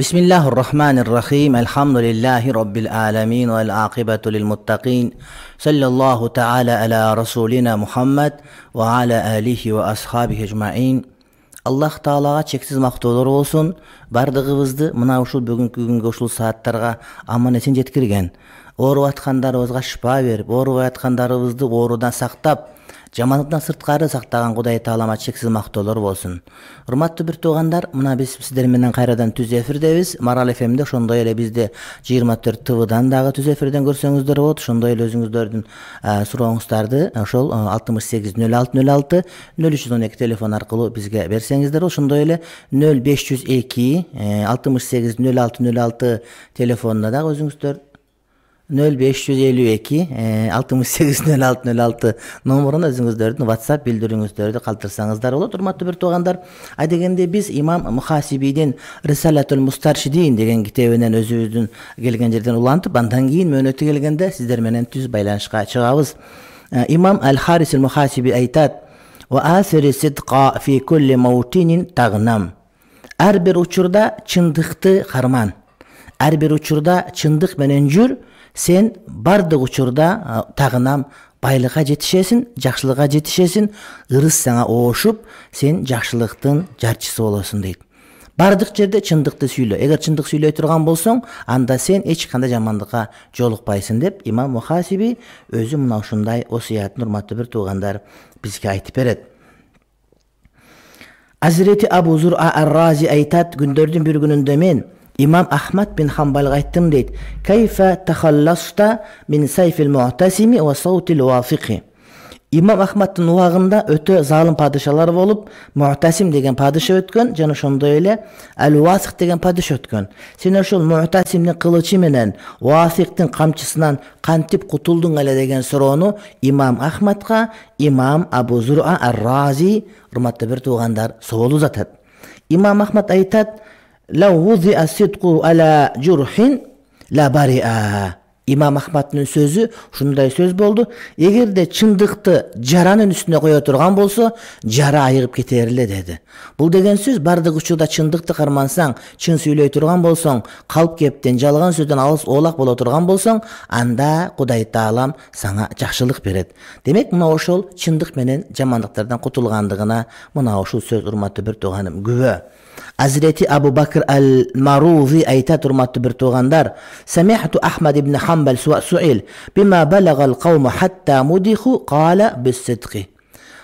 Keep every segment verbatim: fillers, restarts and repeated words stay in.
Bismillahirrahmanirrahim. Elhamdülillahi Rabbil alamin ve el-aqibatu lil-muttaqin. Sallallahu ta'ala ala rasulina Muhammad ve ala alihi ve ashabihi ecmaîn. Allah Taalaga çeksiz maktulur olsun. Bardыгыбызды мына ушул бүгүнкү күнгө ушул сааттарга аман-эсен жеткирген. Ооруп аткандарыбызга шифа берип, ооруп аткандарыбызды оорудан сактап, жамандыктан сырткары сактаган Кудай Таалама чексиз мактоолор болсун. Урматтуу бир туугандар, мына биз сиздер менен кайрадан түз эфирдебиз. Марал эф эмде, ошондой эле бизди жыйырма төрт тэ вдан дагы түз эфирден көрсөңүздөр болот. Ошондой эле өзүңүздөрдүн сурооңуздарды ошол алтымыш сегиз нөл алты нөл алты нөл үч жүз он эки телефон аркылуу бизге берсеңиздер, ошондой эле нөл беш жүз эки алтымыш сегиз нөл алты нөл алты телефонуна дагы өзүңүздөр нөл беш жүз элүү эки алтымыш сегиз нөл алты нөл алты номуруна өзүңүздөрдүн WhatsApp билдирүүңүздөрдү калтырсаңыздар болот. Урматтуу бир туугандар, айдегенде биз имам Мухасибийдин Рисалатул Мустаршидин деген китебинен өзүбүздүн келген жерден улантып, андан кийин мөөнөтү келгенде сиздер менен түз байланышка чыгабыз. Имам Аль-Харис Мухасиби айтат: "Ва асири сидқа фи кулли маутинин тагнам." Ар бир учурда чындыкты карман. Ар бир учурда чындык менен жүр. Сен бардык учурда тагынам байлыкка жетишесиң, жакшылыкка жетишесиң, ырыс сага оошуп, сен жакшылыктын жарчысы болосуң дейт. Бардык жерде чындыкты сүйлө. Эгер чындык сүйлөй турган болсоң, анда сен эч кандай жамандыкка жолукпайсың деп имам Мухасиби өзү мына ушундай осуятын, урматтуу бир туугандар, бизге айтып берет. Азирети Абу Зур'a ар-Рази айтат: "Күндөрдүн бир күнүндө мен İmam Ahmad bin Hanbal'a aytdım deydi. Kayfa takhallasta min sayfil mu'tasimi ve sautil wafiqi." İmam Ahmad'ın uwagында ötö zalim padişalar bolup, Mu'tasim degen padişa ötkөн, jana ошондой эле Al-Wasiq degen padişa ötkön. Sen ошол Mu'tasimдин кылычы менен Wasiqдин камчысынан кантип кутулдуң эле деген суроону İmam Ahmadга İmam Abu Zur'a ар-Razi, урматтуу бир туугандар, соол узатат. İmam Ahmad айтат: "Lau wuzi'a sidqu ala jurhin la bari'a." İmam Ahmad'ın sözü şunday söz boldu: "Egerde çındыкты jaranın üstüne koya turgan bolsa, jara ayıgıp keter ele" dedi. Bul degen söz bardyk учурда çındыкты кармансаң, чын сүйлөй турган болсоң, калп кептен, жалган сөздөн алыс оолак боло турган болсоң, анда Кудай Таалам сага жакшылык берет. Демек, мына ошол чындык менен жамандыктардан кутулгандыгына мына ушул сөз, урматтуу бир тууганым, күбө. Hazreti Abu Bakr al-Maruzi aytat, urmatlı bir tuğandar: "Sami'tu Ahmad ibn Hanbal su'il bima balagal qawmu hatta mudihu qala bis-sidqi."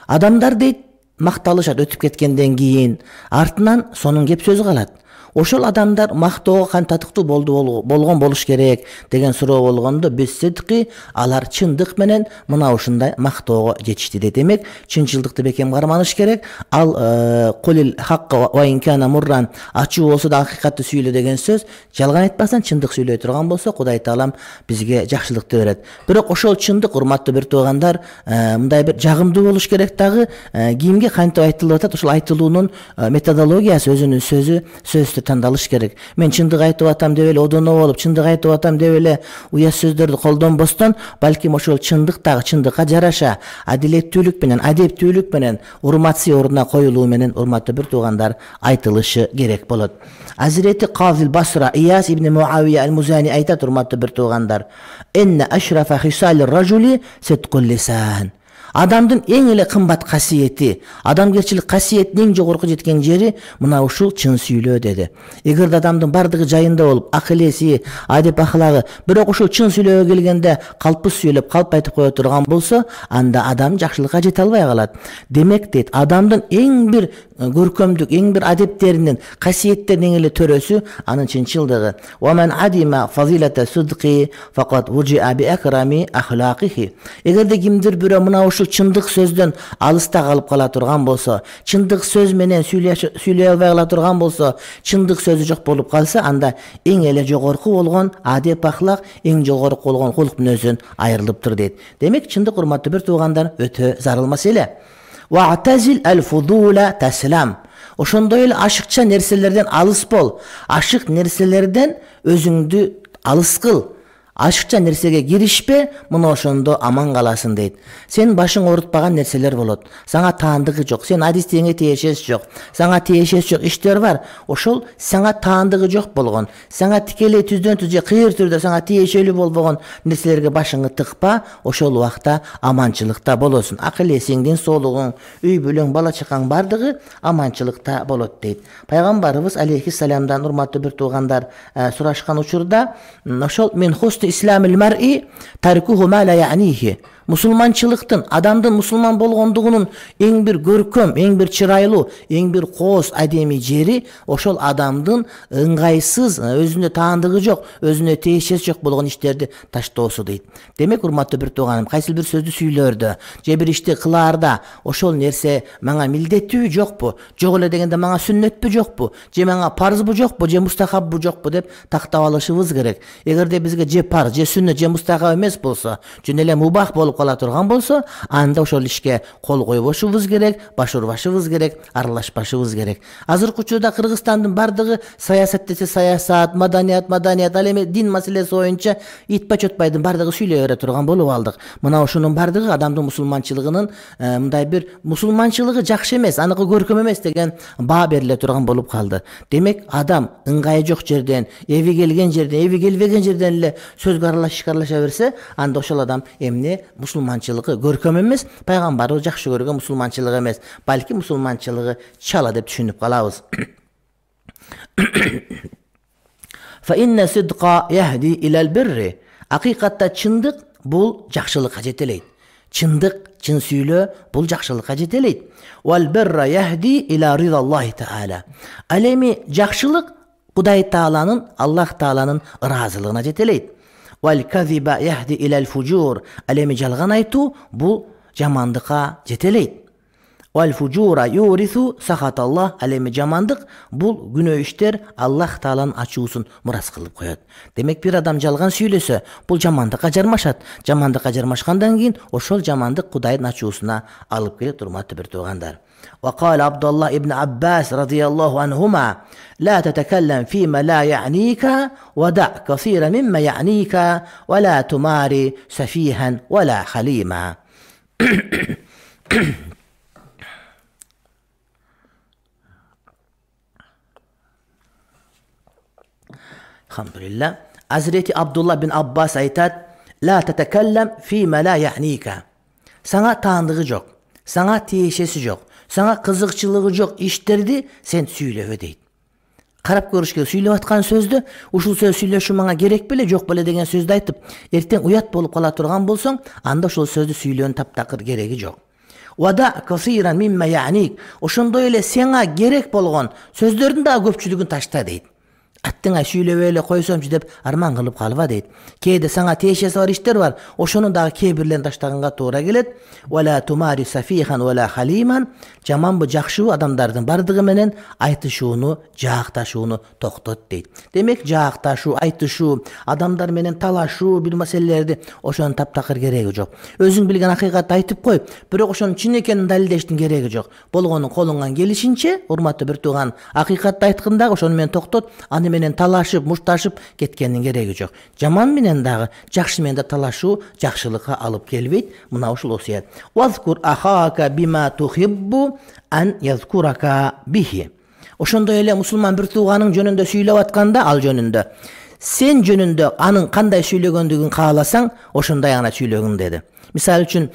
Adamlar deyt, mакталышат өтүп кеткенден кийин, артынан сонун кеп сөзү калат. Ошол адамдар мактоого кантип татыктуу болду болгон болуш керек деген суроо болгондо, bis-sidqi, алар чындык менен мына ушундай мактоого жетишти дейт. Демек, чынчылдыкты бекем карманыш керек. Ал кулил хакка ва ин кана мурран, ачуу болсо да акыйкатты сүйлө деген сөз, жалган айтпасаң, чындык сүйлөй турган болсо, Кудай Таалам бизге жакшылыкты берет. Бирок ошол чындык, урматтуу бир туугандар, мындай бир жагымдуу болуш керек дагы. Кимге кантип айтылып атат, ошол айтылуунун методологиясы, өзүнүн сөзү, сөздү тандалыш керек. Мен чындык айтып атам деп эле одоно болуп, чындык айтып атам деп эле уя сөздөрдү колдонбостон, балким ошол чындык дагы чындыкка жараша, адилеттүүлүк менен, адептүүлүк менен, урматсый ордуна коюлуу менен, урматтуу бир туугандар, айтылышы керек болот. Hazreti Qazil Basra İyas ibn Muaviye el-Muzani aytat, urmatlı bir tuğandar: "Enne eşrafa hisalir raculi sidqul lisan." Адамдын эң эле кымбат касиети, адамгерчилик касиетинин эң жогорку жеткен жери мына ушул чын сүйлөө деди. Эгер адамдын бардыгы жайында болуп, акыл-эси, адеп ахлагы, бирок ушул чын сүйлөөгө келгенде калпсыз сүйлөп, калп айтып кое турган болсо, анда адам жакшылыкка жете албай калат. Демек дейт, адамдын эң бир көркөмдүк, эң бир адептеринин, касиеттеринин эң эле төрөсү анын чынчылдыгы. "Ва ман адима фазилата судqi faqat wuji'a bi akrami akhlaqihi." Эгерде кимдир бирөө мына ушул чындык сөздөн алыста калып кала турган болсо, чындык сөз менен сүйлөй албай кала турган болсо, чындык сөзү жок болуп калса, анда эң эле жогорку болгон адеп ахлак, эң жогорку болгон кулк мүнөздөн айрылыптыр дейт. Демек, чындык, урматтуу бир туугандар, өтө зарыл маселе. "Wa'tazil al-fudula taslam." Ошондой эле ашыкча нерселерден алыс бол. Ашык нерселерден өзүңдү алыс кыл. ашыкча нерсеге киришпе, мына ошондо аман каласың дейт. Сен башың оорутпаган нерселер болот. Сага таандыгы жок, сен адистеңе тиешеси жок, сага тиешеси жок иштер бар. Ошол сага таандыгы жок болгон, сага тикелей түздөн түз же кыйыр түрдө сага тиешелүү болбогон нерселерге башыңды тыкпа, ошол убакта аманчылыкта болосуң. Акыл эсиңдин соолугуң, үй бүлөң, бала чакаң бардыгы аманчылыкта болот дейт. Пайгамбарыбыз алейхиссаламдан урматтуу бир туугандар сурашкан учурда ошол мен хусты исламил мар'i таркуху ма ла я'нихи. Мусулманчылыктын, адамдын мусулман болгондугунун эң бир көркөм, эң бир чырайлуу, эң бир кооз адеми жери ошол адамдын ыңгайсыз, өзүнө таандыгы жок, өзүнө тиешеси жок болгон иштерди таштоосу дейт. Демек, урматтуу бир тууганым, кайсы бир сөздү сүйлөрдө, же бир ишти кылаарда ошол нерсе мага милдеттүүбү жокпу, жок эле дегенде мага сүннөтпү жокпу, же мага парзбы жокпу, же мустахаббы жокпу деп тактап алышыбыз керек. Эгерде бизге же парз, же сүннөт, же мустахаб эмес болсо, жөн эле мубах болуп кала турган болсо, анда ошол ишке кол койбошубуз керек, баш урбашыбыз керек, аралашпашыбыз керек. Азыркы учурда Кыргызстандын бардыгы саясат десе саясат, маданият, маданият, ал эми дин маселеси боюнча итпай чотпайдын бардыгы сүйлөй бере турган болуп алдык. Мына ошонун бардыгы адамдын мусулманчылыгынын мындай бир мусулманчылыгы жакшы эмес, аныкы көркөм эмес деген баа бериле турган болуп калды. Демек, адам ыңгайы жок жерден, эви келген жерден, эви келбеген жерден эле сөзгө аралашып аралаша берсе, анда ошол адам эмне мусулманчылыгы көркөм эмес, пайгамбарыбыз жакшы көргөн мусулманчылык эмес, балки мусулманчылыгы чала деп түшүнүп калабыз. Fa inna sidqa yahdi ilal birri. Акыйкатта чындык бул жакшылыкка жетелейт. Чындык, чын сүйлөө бул жакшылыкка жетелейт. Wal birra yahdi ila ridallohi ta'ala. Ал эми жакшылык Кудай Тааланын, Аллах Тааланын ыраазылыгына жетелейт. Wal kadhiba yahdi ila al-fujur. Ал эми жалган айтуу бул жамандыкка жетелейт. Wal fujura yurithu sakhatallah. Ал эми жамандык бул күнөө иштер Аллах Тааланын ачуусун мурас кылып коет. Демек, бир адам жалган сүйлөсө, бул жамандыкка жармашат. Жамандыкка жармашкандан кийин ошол жамандык Кудайдын ачуусуна алып келет, урматтуу бир туугандар. وقال عبد الله ابن عباس رضي الله عنهما لا تتكلم فيما لا يعنيك ودع كثيرا مما يعنيك ولا تماري سفيها ولا حليما. Alhamdulillah. Hazreti Abdullah bin Abbas aytат: "La tatakallam fima la ya'nika." Сага таандыгы жок, сага тиешеси жок, сага кызыкчылыгы жок иштерди сен сүйлөбө дейт. Карап көрүш керек, сүйлөп аткан сөздү, ушул сөз сүйлөшү мага керек беле, жок беле деген сөздү айтып, эртең уят болуп кала турган болсоң, анда ошол сөздү сүйлөөнүн таптакыр кереги жок. Wada kaseeran mimma ya'nik. Ошондой эле сеңа керек болгон сөздөрдүн да көпчүлүгүн ташта дейт. Аттыңа сүйлөбөй эле койсомчу деп арман кылып калба дейт. Кээде сага тиешеси бар иштер бар, ошонун дагы кээ бирлерин таштаганга туура келет. Wala tumari safihan wala haliman. Жаманбы жакшыбы адамдардын бардыгы менен айтышууну, жаакташууну токтот дейт. Демек, жаакташуу, айтышуу, адамдар менен талашуу бир маселелерди ошонун таптакыр кереги жок. Өзүң билген акыйкатты айтып кой, бирок ошонун чын экенин далилдештин кереги жок. Болгонун колуңан келишинче, урматтуу бир тууган, акыйкатты айтканда ошону менен токтот, аны менен талашып, мушташып кеткендин кереги жок. Жаман менен дагы, жакшы менен да талашуу жакшылыкка алып келбейт. Мына ушул осуят. Вазкур ахака бима тухиббу ан язкурака бихи. Ошондой эле мусулман бир тууганың жөнүндө сүйлөп атканда, ал жөнүндө сен жөнүндө анын кандай сүйлөгөндүгүн кааласаң, ошондой ана сүйлөгүн деди. Мисалы үчүн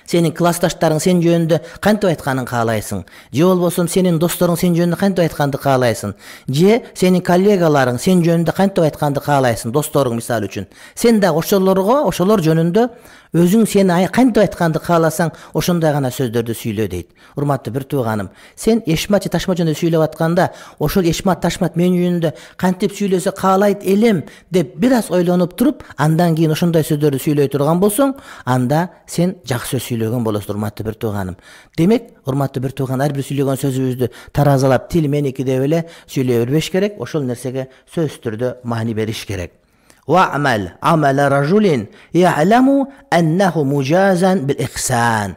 сенин классташтарың сен жөнүндө кантип айтканын каалайсың, же болбосо сенин досторуң сен жөнүндө кантип айтканды каалайсың, же сенин коллегаларың сен жөнүндө кантип айтканды каалайсың, досторуң мисалы үчүн. Сен дагы ошолорго, ошолор жөнүндө өзүң сени кантип айтканды кааласаң, ошондой гана сөздөрдү сүйлө дейт. Урматтуу бир тууганым, сен Эшмат же Ташмат жөнүндө сүйлөп атканда, ошол Эшмат, Ташмат мен жөнүндө кантип сүйлөсө каалайт элем деп бир аз ойлонуп туруп, андан кийин ошондой сөздөрдү сүйлөй турган болсоң, анда сен жакшы сөз сүйлөгөн болосуң, урматтуу бир тууганым. Демек, урматтуу бир тууган, ар бир сүйлөгөн сөзүбүздү таразалап, тил меники деп эле сүйлөй бербеш керек, ошол нерсеге сөзсүз түрдө маани бериш керек. Wa'mal amala rajulin ya'lamu annahu mujazan bil ihsan.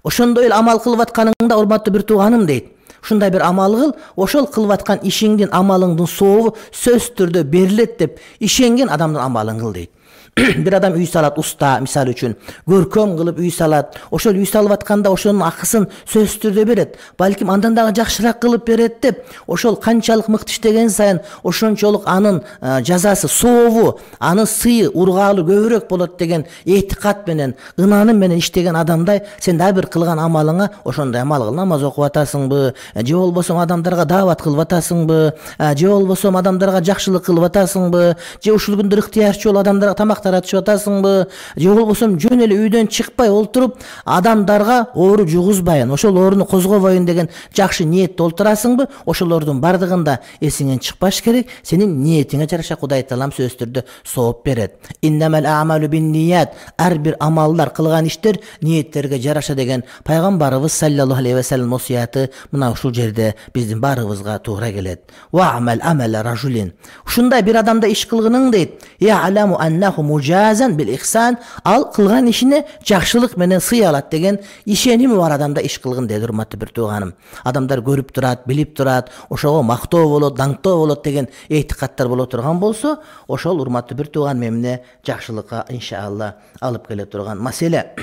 Ошондой эле амал кылып атканыңда, урматтуу бир тууганым дейт. ушундай бир амал кыл, ошол кылып аткан ишиңдин, амалыңдын сообу сөзсүз түрдө берилет деп ишенген адамдын амалын кыл дейт. Бир адам үй салат, уста мисалы үчүн көркөм кылып үй салат, ошол үй салып атканда ошонун акысын сөзсүз түрдө берет, балким андан дагы жакшыраак кылып берет деп, ошол канчалык мыкты иштеген сайын ошончолук анын жазасы, сообу, анын сыйы, ургаалы көбүрөөк болот деген этикат менен, ынаным менен иштеген адамдай сен дагы бир кылган амалыңа ошондой амал кыл. Намаз окуп атасыңбы, же болбосо адамдарга даават кылып атасыңбы, же болбосо адамдарга жакшылык кылып атасыңбы, же ушул күндө ыктыярчыл адамдарга тамак таратышып атасыңбы, же болбосо жөн эле үйдөн чыкпай олтуруп адамдарга оору жугузбайын, ошол ооруну козгобойн деген жакшы ниетте олтурасыңбы, ошолордун бардыгында эсиңен чыкпаш керек. Сенин ниетиңе жараша Кудай Таалам сөзсүз түрдө сооп берет. Иннамал а'малу бин-ният, ар бир амалдар, кылган иштер ниеттерге жараша деген пайгамбарыбыз саллаллаху алейхи ва саллям осуяты мына ушул жерде биздин баарыбызга туура келет. Вa'mal amala rajulin. Ушундай бир адамда иш кылгының дейт. Ya'lamu annahu mujazan bil ihsan, ал кылган ишине жакшылык менен сый алат деген ишеними бар адамда иш кылгын дейт, урматтуу бир тууганым. Адамдар көрүп турат, билип турат, ошого мактоо болот, даңктоо болот деген этикаттар боло турган болсо, ошол урматтуу бир тууган эмне жакшылыкка иншалла алып келе турган маселе.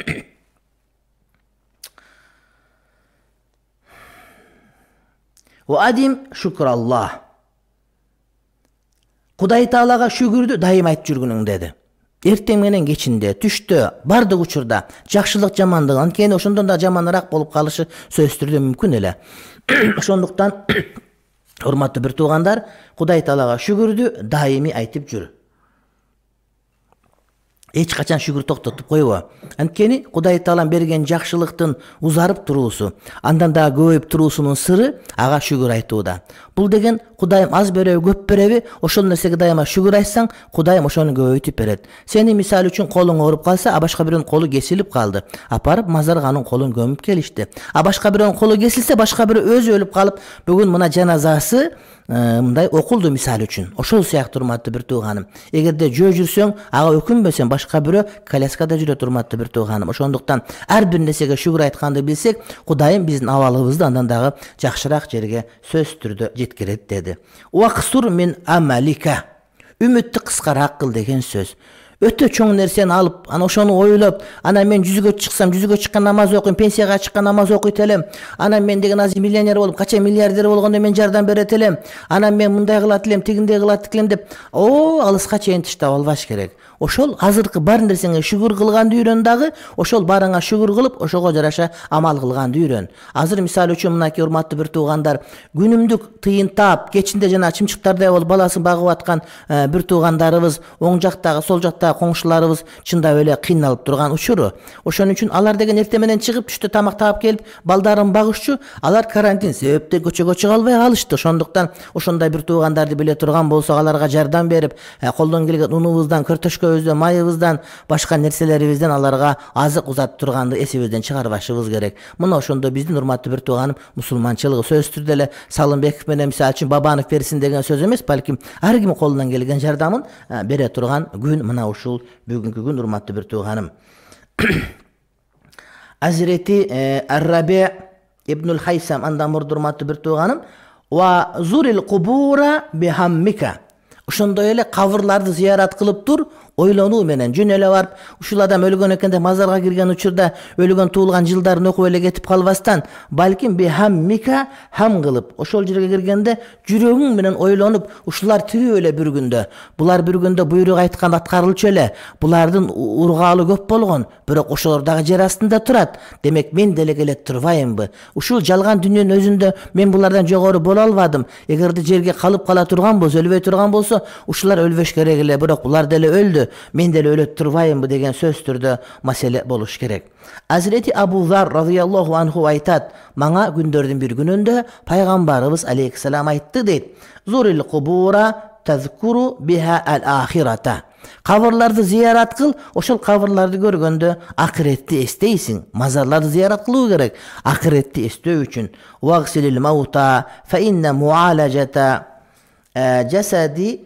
Ва адим шукраллах. Кудай Таалага шүгүрдү дайым айтып жүргүнүң деди. Эртең менен кечинде, түштө, бардык учурда жакшылык жамандык, анткени ошондон да жаманыраак болуп калышы сөзсүз түрдө мүмкүн эле. Ошондуктан урматтуу бир туугандар, Кудай Таалага шүгүрдү дайыми айтып жүр. Эч качан шүгүр токтотуп койбо. Анткени Кудай Таалам берген жакшылыктын узарып туруусу, андан да көбөйүп туруусунун сыры ага шүгүр айтууда. Бул деген Кудайым аз береби, көп береби, ошол нерсеге дайыма шүгүр айтсаң, Кудайым ошону көбөйтүп берет. Сени мисалы үчүн колуң ооруп калса, а башка бирөөнүн колу кесилип калды. Апарып мазарга анын колун көмүп келишти. А башка бирөөнүн колу кесилсе, башка бирөө өзү өлүп калып, бүгүн мына жаназасы мындай окулду мисалы үчүн. Ошол сыяктуу урматтуу бир тууганым. Эгерде жөө жүрсөң, ага өкүнбөсөң, башка бирөө коляскада жүрөт урматтуу бир тууганым. Ошондуктан ар бир нерсеге шүгүр айтканды билсек, Кудайым биздин абалыбызды андан дагы жакшыраак жерге сөзсүз түрдө жеткирет деди. Ваксур мин амалика. Үмүттү кыскараак кыл деген сөз. Өтө чоң нерсени алып, ана ошону ойлоп, ана мен жүзгө чыксам, жүзгө чыккан намаз окуйм, пенсияга чыккан намаз окуйт элем. Ана мен деген азыр миллионер болуп, кача миллиардер болгондо мен жардам берет элем. Ана мен мындай кылат элем, тигиндей кылат элем деп, о, алыска чейин таштап албаш керек. Ошол азыркы бар нерсеңе шүгүр кылганды үйрөн дагы, ошол барыңа шүгүр кылып, ошого жараша амал кылганды үйрөн. Азыр мисалы үчүн мынакей урматтуу бир туугандар, күнүмдүк тыйын таап, кечинде жана чымчыктардай болуп баласын багып аткан бир туугандарыбыз, оң жактагы, сол жактагы коңшуларыбыз чындап эле кыйналып турган учуру. Ошон үчүн алар деген эртең менен чыгып, түштө тамак таап келип, балдарын багышчу, алар карантин себептен көчөгө чыга албай калышты. Ошондуктан ошондой бир туугандарды биле турган болсок, аларга жардам берип, колдон келген унубуздан, картошкабыздан, майыбыздан, башка нерселерибизден аларга азык узатып турганды эсибизден чыгарбашыбыз керек. Мына ошондо биздин урматтуу бир тууганым мусулманчылыгы сөзсүз түрдө эле Салымбеков менен мисалы үчүн Бабанов берсин деген сөз эмес, балким ар ким колунан келген жардамын бере турган күн мына ушул бүгүнкү күн урматтуу бир тууганым. Азирети Ар-Раби ибнул Хайсам андан мурда урматтуу бир тууганым, ва зурил кубура бихаммика. Ошондой эле кабырларды зыярат кылып тур, ойлонуу менен. Жөн эле барып, ушул адам өлгөн экен деп мазарга кирген учурда өлгөн туулган жылдарын окуп эле кетип калбастан, балким бихаммика хам кылып, ошол жерге киргенде жүрөгүң менен ойлонуп, ушулар тирүү эле бир күндө, булар бир күндө буйрук айткан аткарылчу эле, булардын ургаалы көп болгон, бирок ошолор дагы жер астында турат. Демек мен деле келет турбайымбы? Ушул жалган дүйнөнүн өзүндө мен булардан жогору боло албадым. Эгерде жерге калып кала турган болсо, өлбөй турган болсо, ушулар өлбөш керек эле, бирок булар деле өлдү. Мен деле өлөт турбайымбы деген сөз түрдө маселе болуш керек. Азирети Абу Зар радыйаллаху анху айтат, мага күндөрдүн бир күнүндө пайгамбарыбыз алейхиссалам айтты дейт. Зурил кубура тазкуру биха ал-ахирата. Кабырларды зыярат кыл, ошол кабырларды көргөндө акыретти эстейсиң. Мазарларды зыярат кылуу керек, акыретти эстөө үчүн. Вагсилил маута фа инна муалажата жасади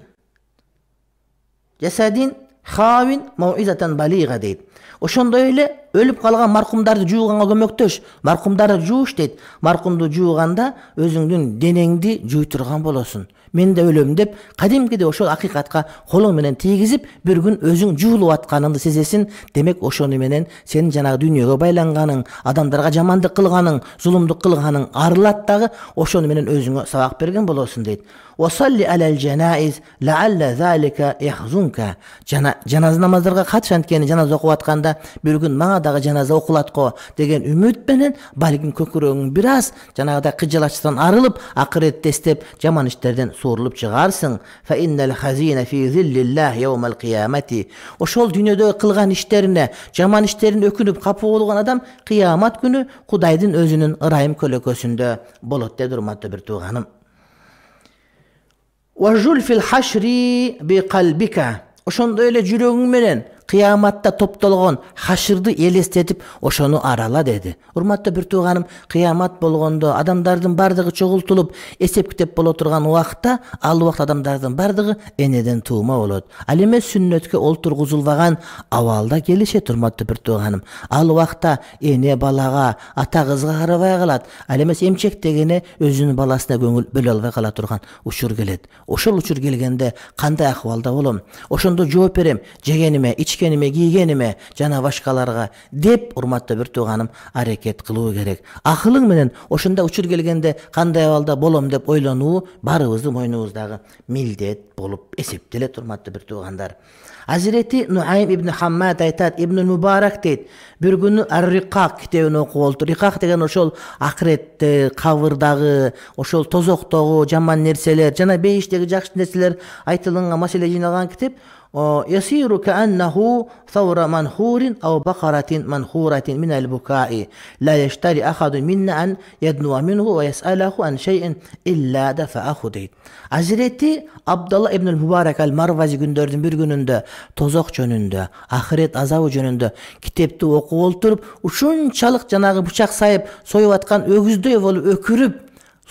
жасадин хавин мауизатан балига дейт. Ошондой эле өлүп калган маркумдарды жууганга көмөктөш. Маркумдарды жууш дейт. Маркумду жууганда өзүңдүн денеңди жуй турган болосуң. Мен да өлөм деп кадимкиде ошол акыйкатка колуң менен тийгизип, bir күн өзүң жуулуп атканыңды сезесиң. Демек ошону менен сенин жанагы дүйнөгө байланганың, адамдарга жамандык кылганың, зулумдук кылганың арылат дагы, ошону менен өзүңө сабак берген болосуң дейт. وصلي على الجنائز لعل ذلك يحزنك. Жаназа намаздарга катыш, анткени жаназа окуп атканда bir күн мага дагы жаназа окулат го деген үмүт менен балким көкүрөгүң бир аз жанагыдай кыжалачтан арылып, акыретти эстеп, жаман иштерден суурулуп чыгарсың. Fa innal hazina fi zillillah yawmal qiyamati. Ошол дүйнөдө кылган иштерине, жаман иштерин өкүнүп капы болгон адам кыямат күнү Кудайдын өзүнүн ырайым көлөкөсүндө болот деп урматтуу бир тууганым. Wajul fil hashri bi qalbika. Ошондой эле жүрөгүң менен кыяматта топтолгон хашырды элестетип, ошону арала деди. Урматтуу бир тууганым, кыямат болгондо адамдардын бардыгы чогултулуп, эсеп китеп боло турган убакта, ал убакта адамдардын бардыгы энеден туума болот. Ал эми сүннөткө олтургузулбаган абалда келишет, урматтуу бир тууганым. Ал убакта эне балага, ата кызга карабай калат. Ал эмес эмчек дегене өзүнүн баласына көңүл бөлө албай кала турган учур келет. Ошол учур келгенде кандай акыбалда болом? Ошондо жооп берем, жегениме, ичкениме, кийгениме, жана башкаларга деп, урматтуу бир тууганым, аракет кылуу керек. Акылың менен ошондой учур келгенде кандай абалда болом деп ойлонуу барыбыздын мойнубуздагы милдет болуп эсептелет, урматтуу бир туугандар. Азирети Нуайм ибн Хаммад айтат, Ибн Мубарак дейт, bir күнү Ар-Рикак китебин окуп олду. Рикак деген ошол акыретте, кабырдагы, ошол тозоктогу жаман нерселер, жана бейиштеги жакшы нерселер айтылган маселе жыйналган китеп. يصير كأنه ثور منخور أو بقرة منخورة من البكاء لا يشتري أحد منا أن يدنو منه ويسأله عن شيء إلا دفعه дейт. Азирети Абдулла ибн Мубарак ал-Марвази күндөрдүн bir күнүндө тозок жөнүндө, ахирет азабы жөнүндө китепти окуп олтуруп, ушунчалык жанагы бычак сайып, союп аткан өгүздөй болуп өкүрүп,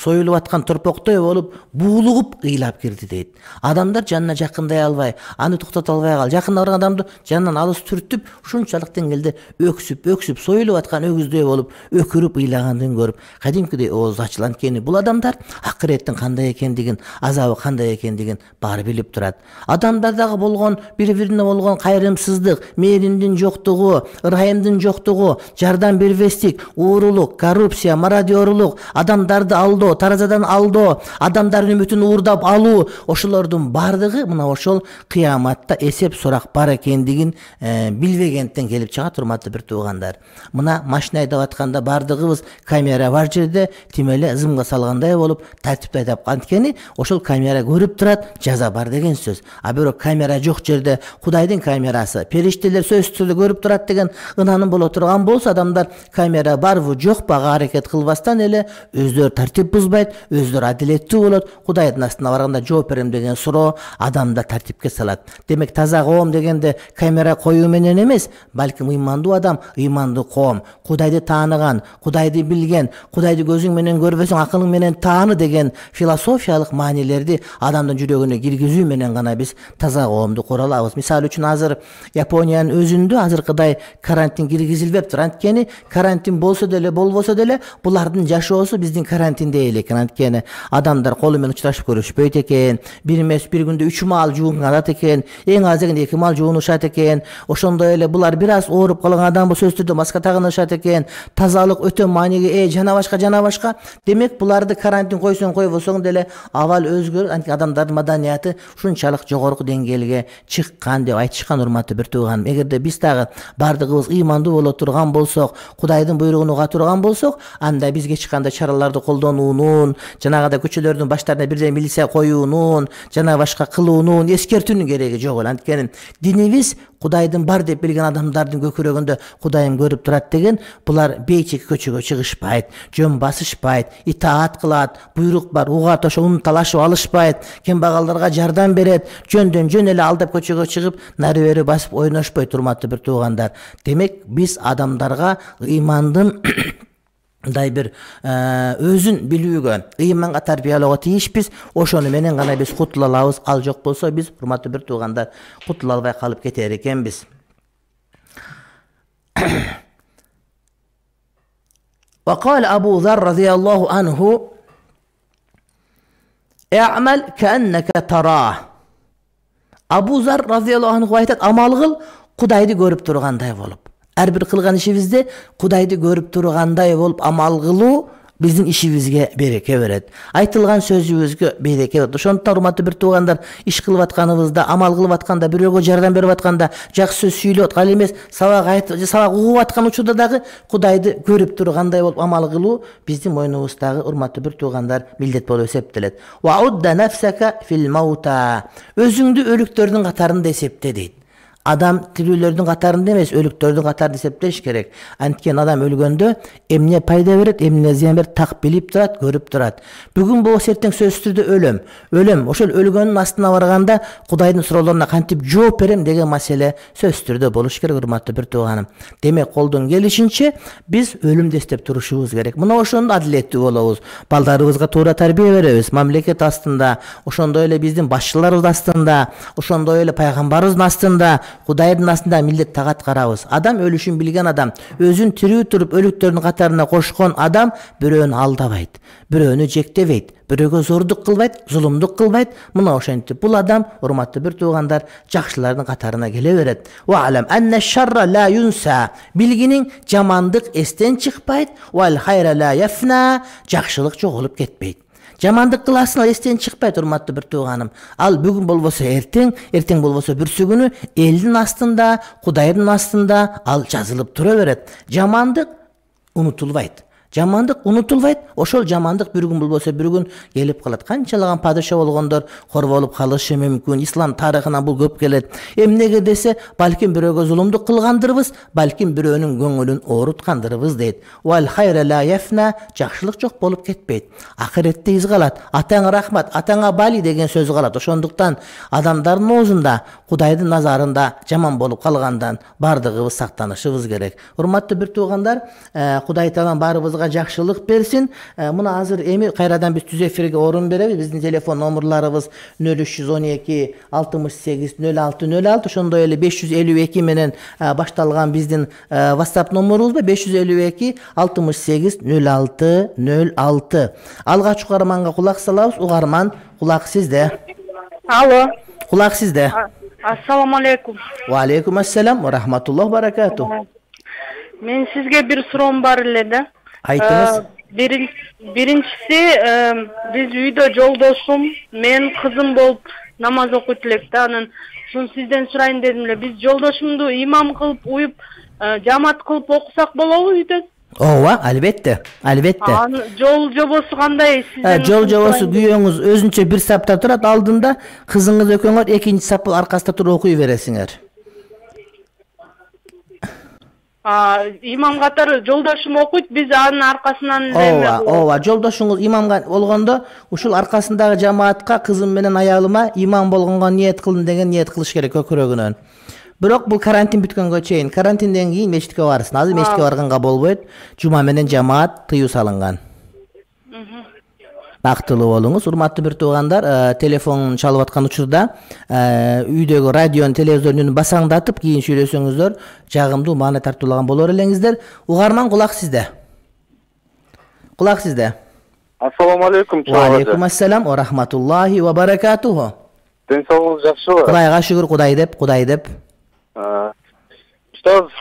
союлуп аткан торпоктой болуп, буулугуп ыйлап кирди дейт. Адамдар жанына жакындай албай, аны токтото албай кал. Жакында барган адамды жанынан алыс түртүп, ушунчалык деңгээлде өксүп, өксүп, союлуп аткан өгүздөй болуп, өкүрүп ыйлагандын көрүп, кадимкидей ооз ачылган экен. Бул адамдар акыреттин кандай экендигин, азабы кандай экендигин баары билип турат. Адамдардагы болгон бири-бирине болгон кайрымсыздык, мээримдин жоктугу, ырайымдын жоктугу, жардам бербестик, уурулук, коррупция, мародёрлук, адамдарды алдоо, таразадан алдоо, адамдардын үмүтүн уурдап алуу, ошолордун бардыгы мына ошол кыяматта эсеп сурак бар экендигин билбегенден келип чыгат, урматтуу бир туугандар. Мына машина айдап атканда бардыгыбыз камера бар жерде тимеле зымга салгандай болуп тартипти айдап, анткени ошол камера көрүп турат, жаза бар деген сөз. А бирок камера жок жерде Кудайдын камерасы, периштелер сөзсүз түрдө көрүп турат деген ынанын боло турган болсо, адамдар камера барбы жокпу аракет кылбастан эле өздөрү тартип бузбайт, өздөрү адилеттүү болот. Кудайдын астына барганда жооп берем деген суроо адамда тартипке салат. Демек таза коом дегенде камера коюу менен эмес, балким ыймандуу адам, ыймандуу коом, Кудайды тааныган, Кудайды билген, Кудайды көзүң менен көрбөсөң акылың менен тааны деген философиялык маанилерди адамдын жүрөгүнө киргизүү менен гана биз таза коомду кура алабыз. Мисалы үчүн азыр Япониянын өзүндө азыркыдай карантин киргизилбептир. Анткени карантин болсо деле, болбосо деле булардын жашоосу биздин карантинде эле экен. Анткени адамдар колу менен учурашып көрүшпөйт экен, бир эмес бир күндө үч маал жуунат экен, эң аз дегенде эки маал жуунушат экен. Ошондой эле булар бир аз ооруп калган адам болсо сөзсүз түрдө маска тагынышат экен. Тазалык өтө маанилүү, э жана башка жана башка. Демек буларды карантин койсоң койбосоң деле абал өзгөрүп, анткени адамдардын маданияты ушунчалык жогорку деңгээлге чыккан деп айтышкан, урматтуу бир тууганым. Эгерде биз дагы бардыгыбыз ыймандуу боло турган болсок, Кудайдын буйругун уга турган болсок, анда бизге эч кандай чараларды колдонуунун, жанагыдай көчөлөрдүн баштарына бирден милиция коюунун, жана башка кылуунун, эскертүүнүн кереги жок эле. Анткени динибиз Кудайдын бар деп билген адамдардын көкүрөгүндө Кудайым көрүп турат деген, булар бейчеки көчөгө чыгышпайт, жөн басышпайт, итаат кылат, буйрук бар, угат ошо унталашып алышпайт, кембагалдарга жардам берет, жөндөн жөн эле алдап көчөгө чыгып, нары бери басып ойношпойт, урматтуу бир туугандар. Демек биз адамдарга ыймандын мындай бир өзүн билүүгө, ыйманга тарбиялоого тийишпиз. Ошону менен гана биз кутула алабыз. Ал жок болсо биз, урматтуу бир туугандар, кутула албай калып кетер экенбиз. وقال أبو ذر رضي الله عنه اعمل كأنك تراه. Абу Зар разияллаху анху айтат, амал кыл, Кудайды көрүп тургандай болуп. Ар бир кылган ишибизде Кудайды көрүп тургандай болуп амал кылуу биздин ишибизге береке берет. Айтылган сөзүбүзгө береке берет. Ошондуктан урматтуу бир туугандар, иш кылып атканыбызда, амал кылып атканда, бирөөгө жардам берип атканда, жакшы сөз сүйлөп аткан эмес, сабак айтып, же сабак угуп аткан учурда дагы Кудайды көрүп тургандай болуп амал кылуу биздин мойнубуздагы урматтуу бир туугандар милдет болуп эсептелет. Ваудда нафсака фил маута. Өзүңдү өлүктөрдүн катарында эсепте дейт. Адам тирүүлөрдүн катарында эмес, өлүктөрдүн катарында эсептеш керек. Анткени адам өлгөндө эмне пайда берет, эмне зыян берет, так билип турат, көрүп турат. Бүгүн болсо эртең сөзсүз түрдө өлөм. Өлөм, ошол өлгөндүн астына барганда Кудайдын суроолоруна кантип жооп берем деген маселе сөзсүз түрдө болуш керек, урматтуу бир тууганым. Демек, колдон келишинче биз өлүмдү эстеп турушубуз керек. Мына ошондо адилеттүү болобуз. Балдарыбызга туура тарбия беребиз. Мамлекет астында, ошондой эле биздин башчыларыбыз астында, ошондой эле пайгамбарыбыздын астында, Кудайдын астында милдет тагат карабыз. Адам өлүшүн билген адам, өзүн тирүү туруп өлүктөрдүн катарына кошкон адам бирөөнү алдабайт, бирөөнү жектебейт, бирөөгө зордук кылбайт, зулумдук кылбайт. Мына ошентип бул адам, урматтуу бир туугандар, жакшылардын катарына келе берет. Ва алам анна шарра ла юнса. Билгиниң жамандык эстен чыкпайт, вал хайра ла яфна. Жакшылык жоголуп кетпейт. Жамандык кыласың, эстен чыкпайт, урматтуу бир тууганым. Ал бүгүн болбосо эртең, эртең болбосо бүрсү күнү элдин астында, Кудайдын астында ал жазылып тура берет. Жамандык унутулбайт. Жамандык унутулбайт. Ошол жамандык бир күн болбосо бир күн келип калат. Канчалаган падыша болгондор кор болуп калышы мүмкүн. Ислам тарыхына бул көп келет. Эмнеге десе, балким бирөөгө зулумдук кылгандырбыз, балким бирөөнүн көңүлүн ооруткандырбыз дейт. Вал хайра ла яфна. Жакшылык жок болуп кетпейт. Акыретте из калат. Атаңа рахмат, атаңа бали деген сөз калат. Ошондуктан адамдардын оозунда, Кудайдын назарында жаман болуп калгандан бардыгыбыз сактанышыбыз керек. Урматтуу бир туугандар, Кудай Таалам баарыбызга жакшылык берсин. Мына азыр эми кайрадан биз түз эфирге орун беребиз. Биздин телефон номерларыбыз нөл үч жүз он эки алтымыш сегиз нөл алты нөл алты, ошондой эле беш жүз элүү эки менен башталган биздин WhatsApp номерубуз бар. беш жүз элүү эки алтымыш сегиз нөл алты нөл алты. Алгач угарманга кулак салабыз. Угарман, кулак сизде. Алло. Кулак сизде. Ассаламу алейкум. Ва алейкум ассалам ва рахматуллах баракату. Мен сизге бир суроом бар эле да. Айтыңыз. Биринчиси, биз үйдө жолдошум, мен кызым болуп намаз окуйт элек да. Анан ушун сизден сурайын дедим эле. Биз жолдошумду имам кылып уюп, жамаат кылып окусак болобу үйдө? Ооба, албетте, албетте. Жол жобосу кандай сизден? Жол жобосу күйөөңүз өзүнчө бир сапта турат, алдында кызыңыз экөөңөр экинчи сап аркасында туруп окуй бересиңер. Имам катары жолдошум окуйт, биз анын аркасынан. Ооба, ооба, жолдошуңуз имамга болгондо ушул аркасындагы жамаатка кызым менен аялыма имам болгонго ниет кылдым деген ниет кылыш керек көкүрөгүнөн. Бирок бул карантин бүткөнгө чейин, карантинден кийин мечитке барсын. Азыр мечитке барганга болбойт. Жума менен жамаат тыюу салынган. Бактылуу болуңуз, урматтуу бир туугандар. Телефон чалып аткан учурда үйдөгү радионун, телевизордун үнүн басаңдатып, кийин сүйлөсөңүздөр, жагымдуу маани тартуулаган болор элеңиздер. Угарман, кулак сизде. Кулак сизде. Ассаламу алейкум. Ва алейкум ассалам ва рахматуллахи ва баракатуху. Ден соолугуңуз жакшыбы? Кудайга шүгүр, Кудай деп, Кудай деп. Устоз,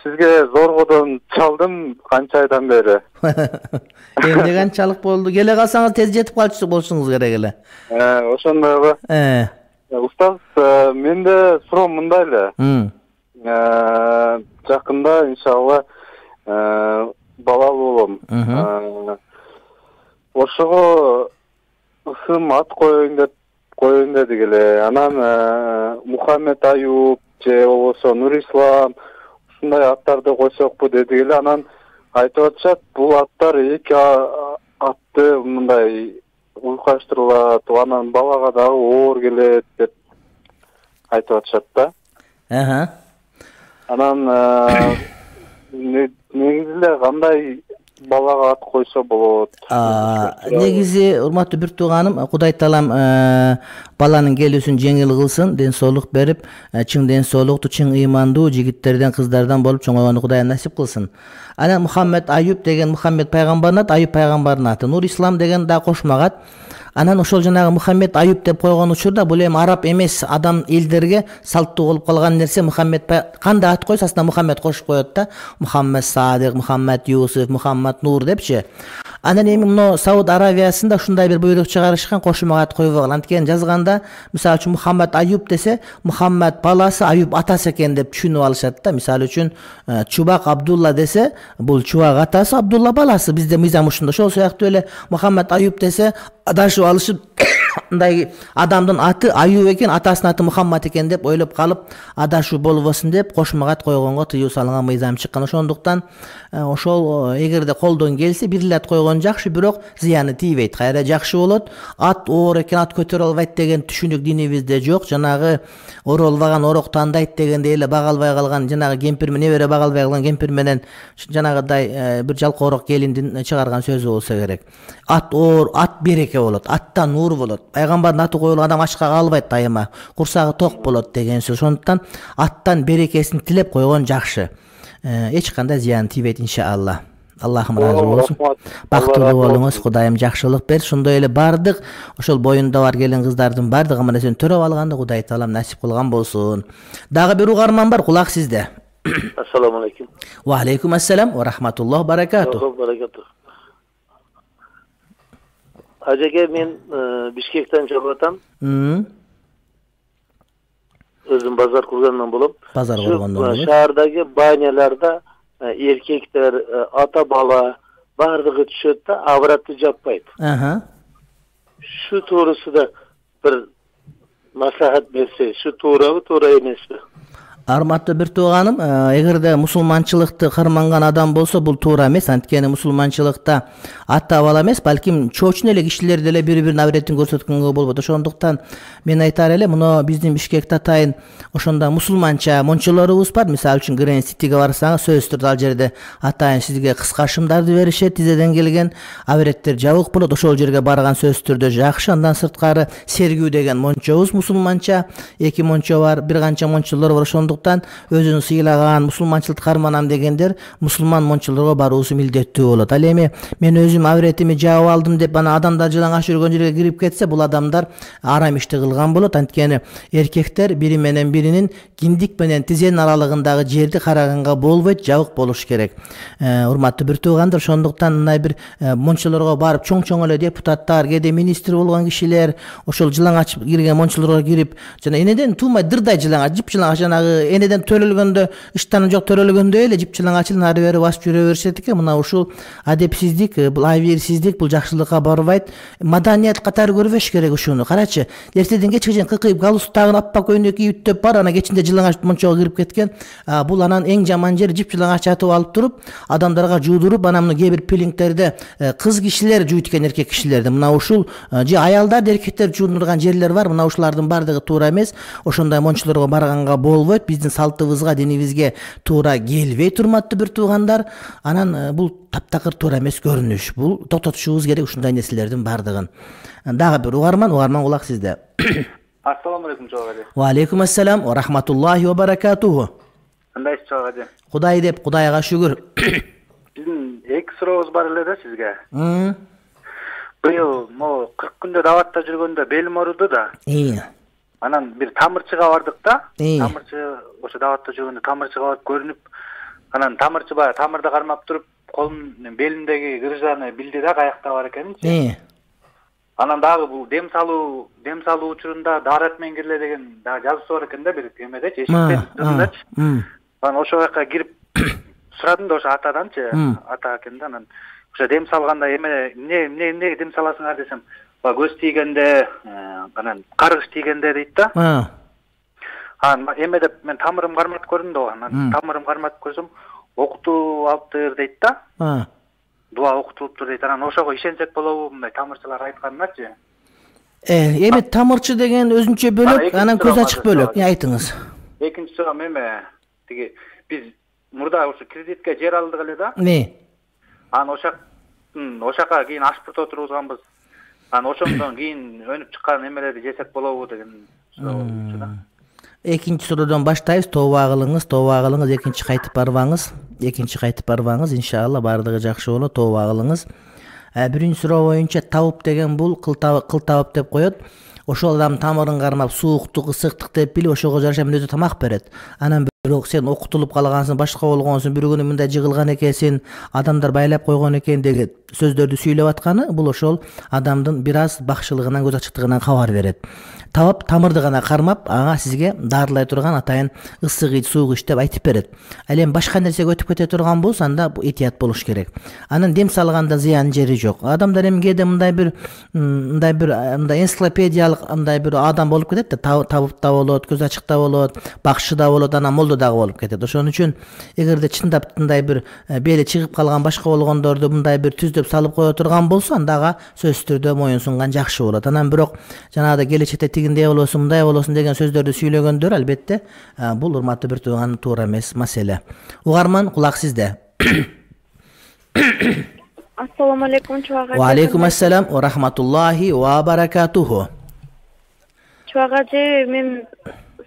сизге зоргодон чалдым канча айдан бери. Эмне канчалык болду? Келе калсаңыз тез жетип калчу болушуңуз керек эле. Ошондойбу? Э. Устоз, менде суроом мындай эле. Жакында иншалла балалуу болом. Ошого ысым ат коеюн деп коеюн дедик эле. Анан Мухаммед Аюп же болбосо Нурислам ушундай аттарды койсокпу дедик эле. Анан айтып атышат, бул аттар эки атты мындай уйкаштырылат, анан балага дагы оор келет деп айтып атышат да. Аха. Анан негизи эле кандай балага ат койсо болот. Негизи урматтуу бир тууганым, Кудай таалам баланын келүүсүн жеңил кылсын, ден соолук берип, чың ден соолуктуу, чың ыймандуу жигиттерден, кыздардан болуп чоңойгонду Кудай насип кылсын. Анан Мухаммед Аюб деген Мухаммед пайгамбардын аты, Аюб пайгамбардын аты. Нур Ислам деген да кошмагат. Анан ошол жанагы Мухаммед Аюб деп койгон учурда бул эми араб эмес адам элдерге салттуу болуп калган нерсе. Мухаммед кандай ат койсо астына Мухаммед кошуп коет да. Мухаммед Садык, Мухаммед Юсуф, Мухаммед Нур депчи. Анан эми мына Сауд Аравиясында ушундай бир буйрук чыгарышкан, кошумага ат койбогон. Анткени жазганда, мисалы үчүн Мухаммед Аюб десе, Мухаммед баласы, Аюб атасы экен деп түшүнүп алышат да. Мисалы үчүн Чубак Абдулла десе, бул Чубак атасы, Абдулла баласы. Бизде мыйзам ушундай. Ошол сыяктуу эле Мухаммед Аюб десе, адашып алышып мындай адамдын аты Аюб экен, атасынын аты Мухаммад экен деп ойлоп калып, адашуу болбосун деп кошумага ат койгонго тыюу салынган мыйзам чыккан. Ошондуктан ошол эгерде колдон келсе бир эле ат койгон жакшы, бирок зыяны тийбейт. Кайра жакшы болот. Ат оор экен, ат көтөрө албайт деген түшүнүк динибизде жок. Жанагы оролбаган орок тандайт дегендей эле бага албай калган жанагы кемпир менен, небере бага албай калган кемпир менен жанагыдай бир жалкоорок келиндин чыгарган сөзү болсо керек. Ат оор, ат береке болот, аттан нур болот. Пайгамбардын аты коюлган адам ачка калбайт дайыма, курсагы ток болот деген сөз. Ошондуктан аттан берекесин тилеп койгон жакшы. Эч кандай зыян тийбейт иншалла. Аллахым разы болсун. Бактылуу болуңуз, Кудайым жакшылык берсин. Ошондой эле бардык ошол боюнда бар келин кыздардын бардыгы нерсени төрөп алганды Кудай таалам насип кылган болсун. Дагы бир угарман бар, кулак сизде. Ассаламу алейкум. Ва алейкум ассалам ва рахматуллах баракату. Ажеке, мен Бишкектен чыгып атам. Өзүм базар кургандан болом. Базар кургандан болом. Шаардагы баняларда эркектер, ата бала бардыгы түшөт да, авратты жаппайт. Аха. Шу туурусунда бир маслахат берсе, шу туурабы, туура эмеспи? Арматтуу бир тууганым, эгерде мусулманчылыкты карманган адам болсо, бул туура эмес. Анткени мусулманчылыкта ата бала эмес, балким чоочун эле кишилер деле бири-биринин авретин көрсөткөнгө болбойт. Ошондуктан мен айтар эле, муну биздин Бишкекте атайын ошондо мусулманча мончолорубуз бар. Мисалы үчүн Грен Ситиге барсаңыз, сөзсүз түрдө ал жерде атайын сизге кыска шымдарды беришет, тизеден келген авреттер жабык болот. Ошол жерге барган сөзсүз түрдө жакшы. Андан сырткары Сергүү деген мончобуз мусулманча, эки мончо бар, бир канча мончолор бар. Ошондуктан өзүн сыйлаган, мусулманчылыкты карманам дегендер мусулман мончолорго баруусу милдеттүү болот. Ал эми мен өзүм авретими жаап алдым деп ана адамдар жылаңач жүргөн жерге кирип кетсе, бул адамдар арам ишти кылган болот. Анткени эркектер бири менен биринин киндик менен тизенин аралыгындагы жерди караганга болбойт, жабык болуш керек. Урматтуу бир туугандар, ошондуктан мындай бир мончолорго барып чоң-чоң эле депутаттар, кээде министр болгон кишилер ошол жылаңач кирген мончолорго кирип, жана энеден туумай дырдай жылаңач, жип жылаңач, жанагы энеден төрөлгөндө, ыштаны жок төрөлгөндө эле жип жылаңачын ары бери басып жүрө беришет экен. Мына ушул адепсиздик, бул айберсиздик, бул жакшылыкка барбайт. Маданият катары көрбөш керек ушуну. Карачы, эртеден кечке чейин кыкыйып галстугун аппак көйнөк кийип өттөп бар, ана кечинде жылаңач мончого кирип кеткен. Бул анан эң жаман жери жип жылаңач атып алып туруп, адамдарга жуудуруп, анан мына кээ бир пилингтерде кыз кишилер жуйт экен эркек кишилерди. Мына ушул же аялдар, эркектер жуудурган жерлер бар. Мына ушулардын бардыгы туура эмес. Ошондой мончолорго барганга болбойт. Биздин салтыбызга, динибизге туура келбейт, урматтуу бир туугандар. Анан бул таптакыр туура эмес көрүнүш. Бул токтотушубуз керек ушундай нерселердин бардыгын. Дагы бир угарман, угарман кулак сизде. Ассаламу алейкум чогажы. Ва алейкум ассалам ва рахматуллахи ва баракатуху. Кандайсыз чогажы? Кудай деп, Кудайга шүгүр. Биздин эки сурообуз бар эле да сизге. Быйыл могу кырк күндө даватта жүргөндө белим ооруду да. Анан бир тамырчыга бардык да. Тамырчы ошо даватта жүргөндө тамырчыга барып көрүнүп, анан тамырчы баягы тамырды кармап туруп, колум белимдеги грыжаны билди да, каякта бар экенинчи. Анан дагы бул дем салуу, дем салуу учурунда даарат менен кирле деген дагы жазуусу бар экен да, бир эмедечи, эшиктечи. Анан ошол жака кирип сурадым да ошо атаданчы, ата экен да. Анан ошо дем салганда эме эмне эмне дем саласыңар десем, көз тийгенде, анан каргыш тийгенде дейт да. Анан эме деп мен тамырым карматып көрдүм да, анан тамырым карматып көрсөм, окутуп алыптыр дейт да. Дуа окутулуптур дейт. Анан ошого ишенсек болобу, мындай тамырчылар айтканначы? Э, эми тамырчы деген өзүнчө бөлөк, анан көз ачык бөлөк. Айтыңыз. Экинчи сурам эме, тиги биз мурда ошо кредитке жер алдык эле да. Не? Анан ошактын ошакка кийин ашпырт отургузганбыз. Анан ошондон кийин өнүп чыккан эмелерди жесек болобу деген суроо болчу да. Экинчи суроодон баштайбыз. Тооба кылыңыз, тооба кылыңыз, экинчи кайтып барбаңыз. Экинчи кайтып барбаңыз, иншалла бардыгы жакшы болот. Тооба кылыңыз. Биринчи суроо боюнча табып деген бул кыл табып деп коет. Ошол адам тамырын кармап, сууктук, ысыктык деп билип, ошого жараша мен өзү тамак берет. Анан бирок сен окутулуп калгансың, башка болгонсуң, бир күнү мындай жыгылган экенсиң, адамдар байлап койгон экен деген сөздөрдү сүйлөп атканы, бул ошол адамдын бир аз бакшылыгынан, көз ачыктыгынан кабар берет. Табап, тамырды гана кармап, ага сизге дарылай турган атайын ысык ич, суук ич деп айтып берет. Ал эми башка нерсеге өтүп кете турган болсо, анда этият болуш керек. Анан дем салганда зыян жери жок. Адамдар эми кээде мындай бир мындай бир мындай энциклопедиялык мындай бир адам болуп кетет да, табып да болот, көз ачык да болот, бакшы да болот, анан молдо дагы болуп кетет. Ошон үчүн эгерде чындап мындай бир бели чыгып калган башка болгондорду мындай бир түздөп салып кое турган болсо, анда ага сөзсүз түрдө моюн сунган жакшы болот. Анан бирок жанагыдай келечекте тигиндей болосун, мындай болосун деген сөздөрдү сүйлөгөндөр албетте бул урматтуу бир тууган туура эмес маселе. Угарман, кулак сизде. Ассаламу алейкум, чубак. Ва алейкум ассалам ва рахматуллахи ва баракатуху. Чубак ажы, мен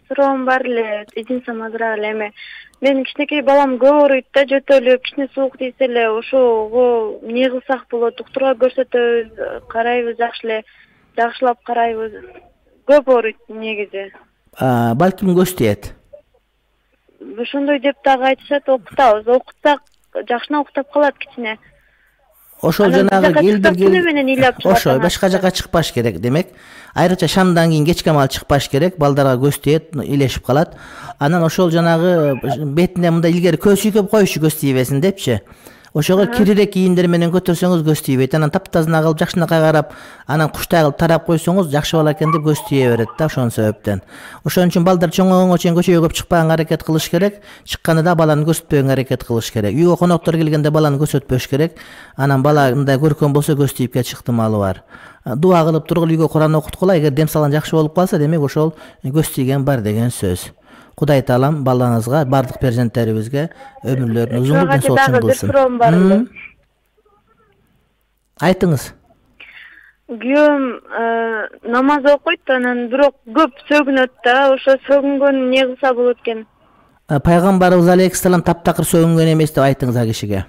суроом бар эле, изинсем азыраак эле эме. Менин кичинекей балам көп ооруйт да, жөтөлүп, кичине суук тийсе эле ошого эмне кылсак болот? Доктурга көрсөтөбүз, карайбыз, жакшы эле, жакшылап карайбыз. Көп ооруйт негизи. Балким көз тиет. Ошондой деп дагы айтышат, окутабыз. Окутсак жакшына уктап калат кичине. Ошол жанагы келдирген ошо башка жака чыкпаш керек. Демек, айрыкча шамдан кийин кечке маал чыкпаш керек. Балдарга көз тиет, илешип калат. Анан ошол жанагы бетине мындай илгери көз сүйкөп коюшу көз тийбесин депчи. Ошого кирирээк кийимдер менен көтөрсөңүз көз тийбейт. Анан таптазына кылып, жакшынакай карап, анан куштай кылып тарап койсоңуз жакшы бала экен деп көз тийе берет да, ошон себептен. Ошон үчүн балдар чоңойгонго чейин көчөгө көп чыкпаганга аракет кылыш керек. Чыкканда баланы көрсөтпөгөнгө аракет кылыш керек. Үйгө коноктор келгенде баланы көрсөтпөш керек. Анан бала мындай көркөм болсо көз тийип кетиш ыктымалы бар. Дуа кылып тургула, үйгө Куран окуткула. Эгер дем салган жакшы болуп калса, демек ошол көз тийген бар деген сөз. Кудай таалам балаңызга, бардык перзенттерибизге өмүрлөрүн узун болсун кылсын. Айтыңыз. Күйөөм намаз окуйт, анан бирок көп сөгүнөт да, ошо сөгүнгөн эмне кылса болот экен? Пайгамбарыбыз алейхиссалам таптакыр сөгүнгөн эмес деп айтыңыз а кишиге.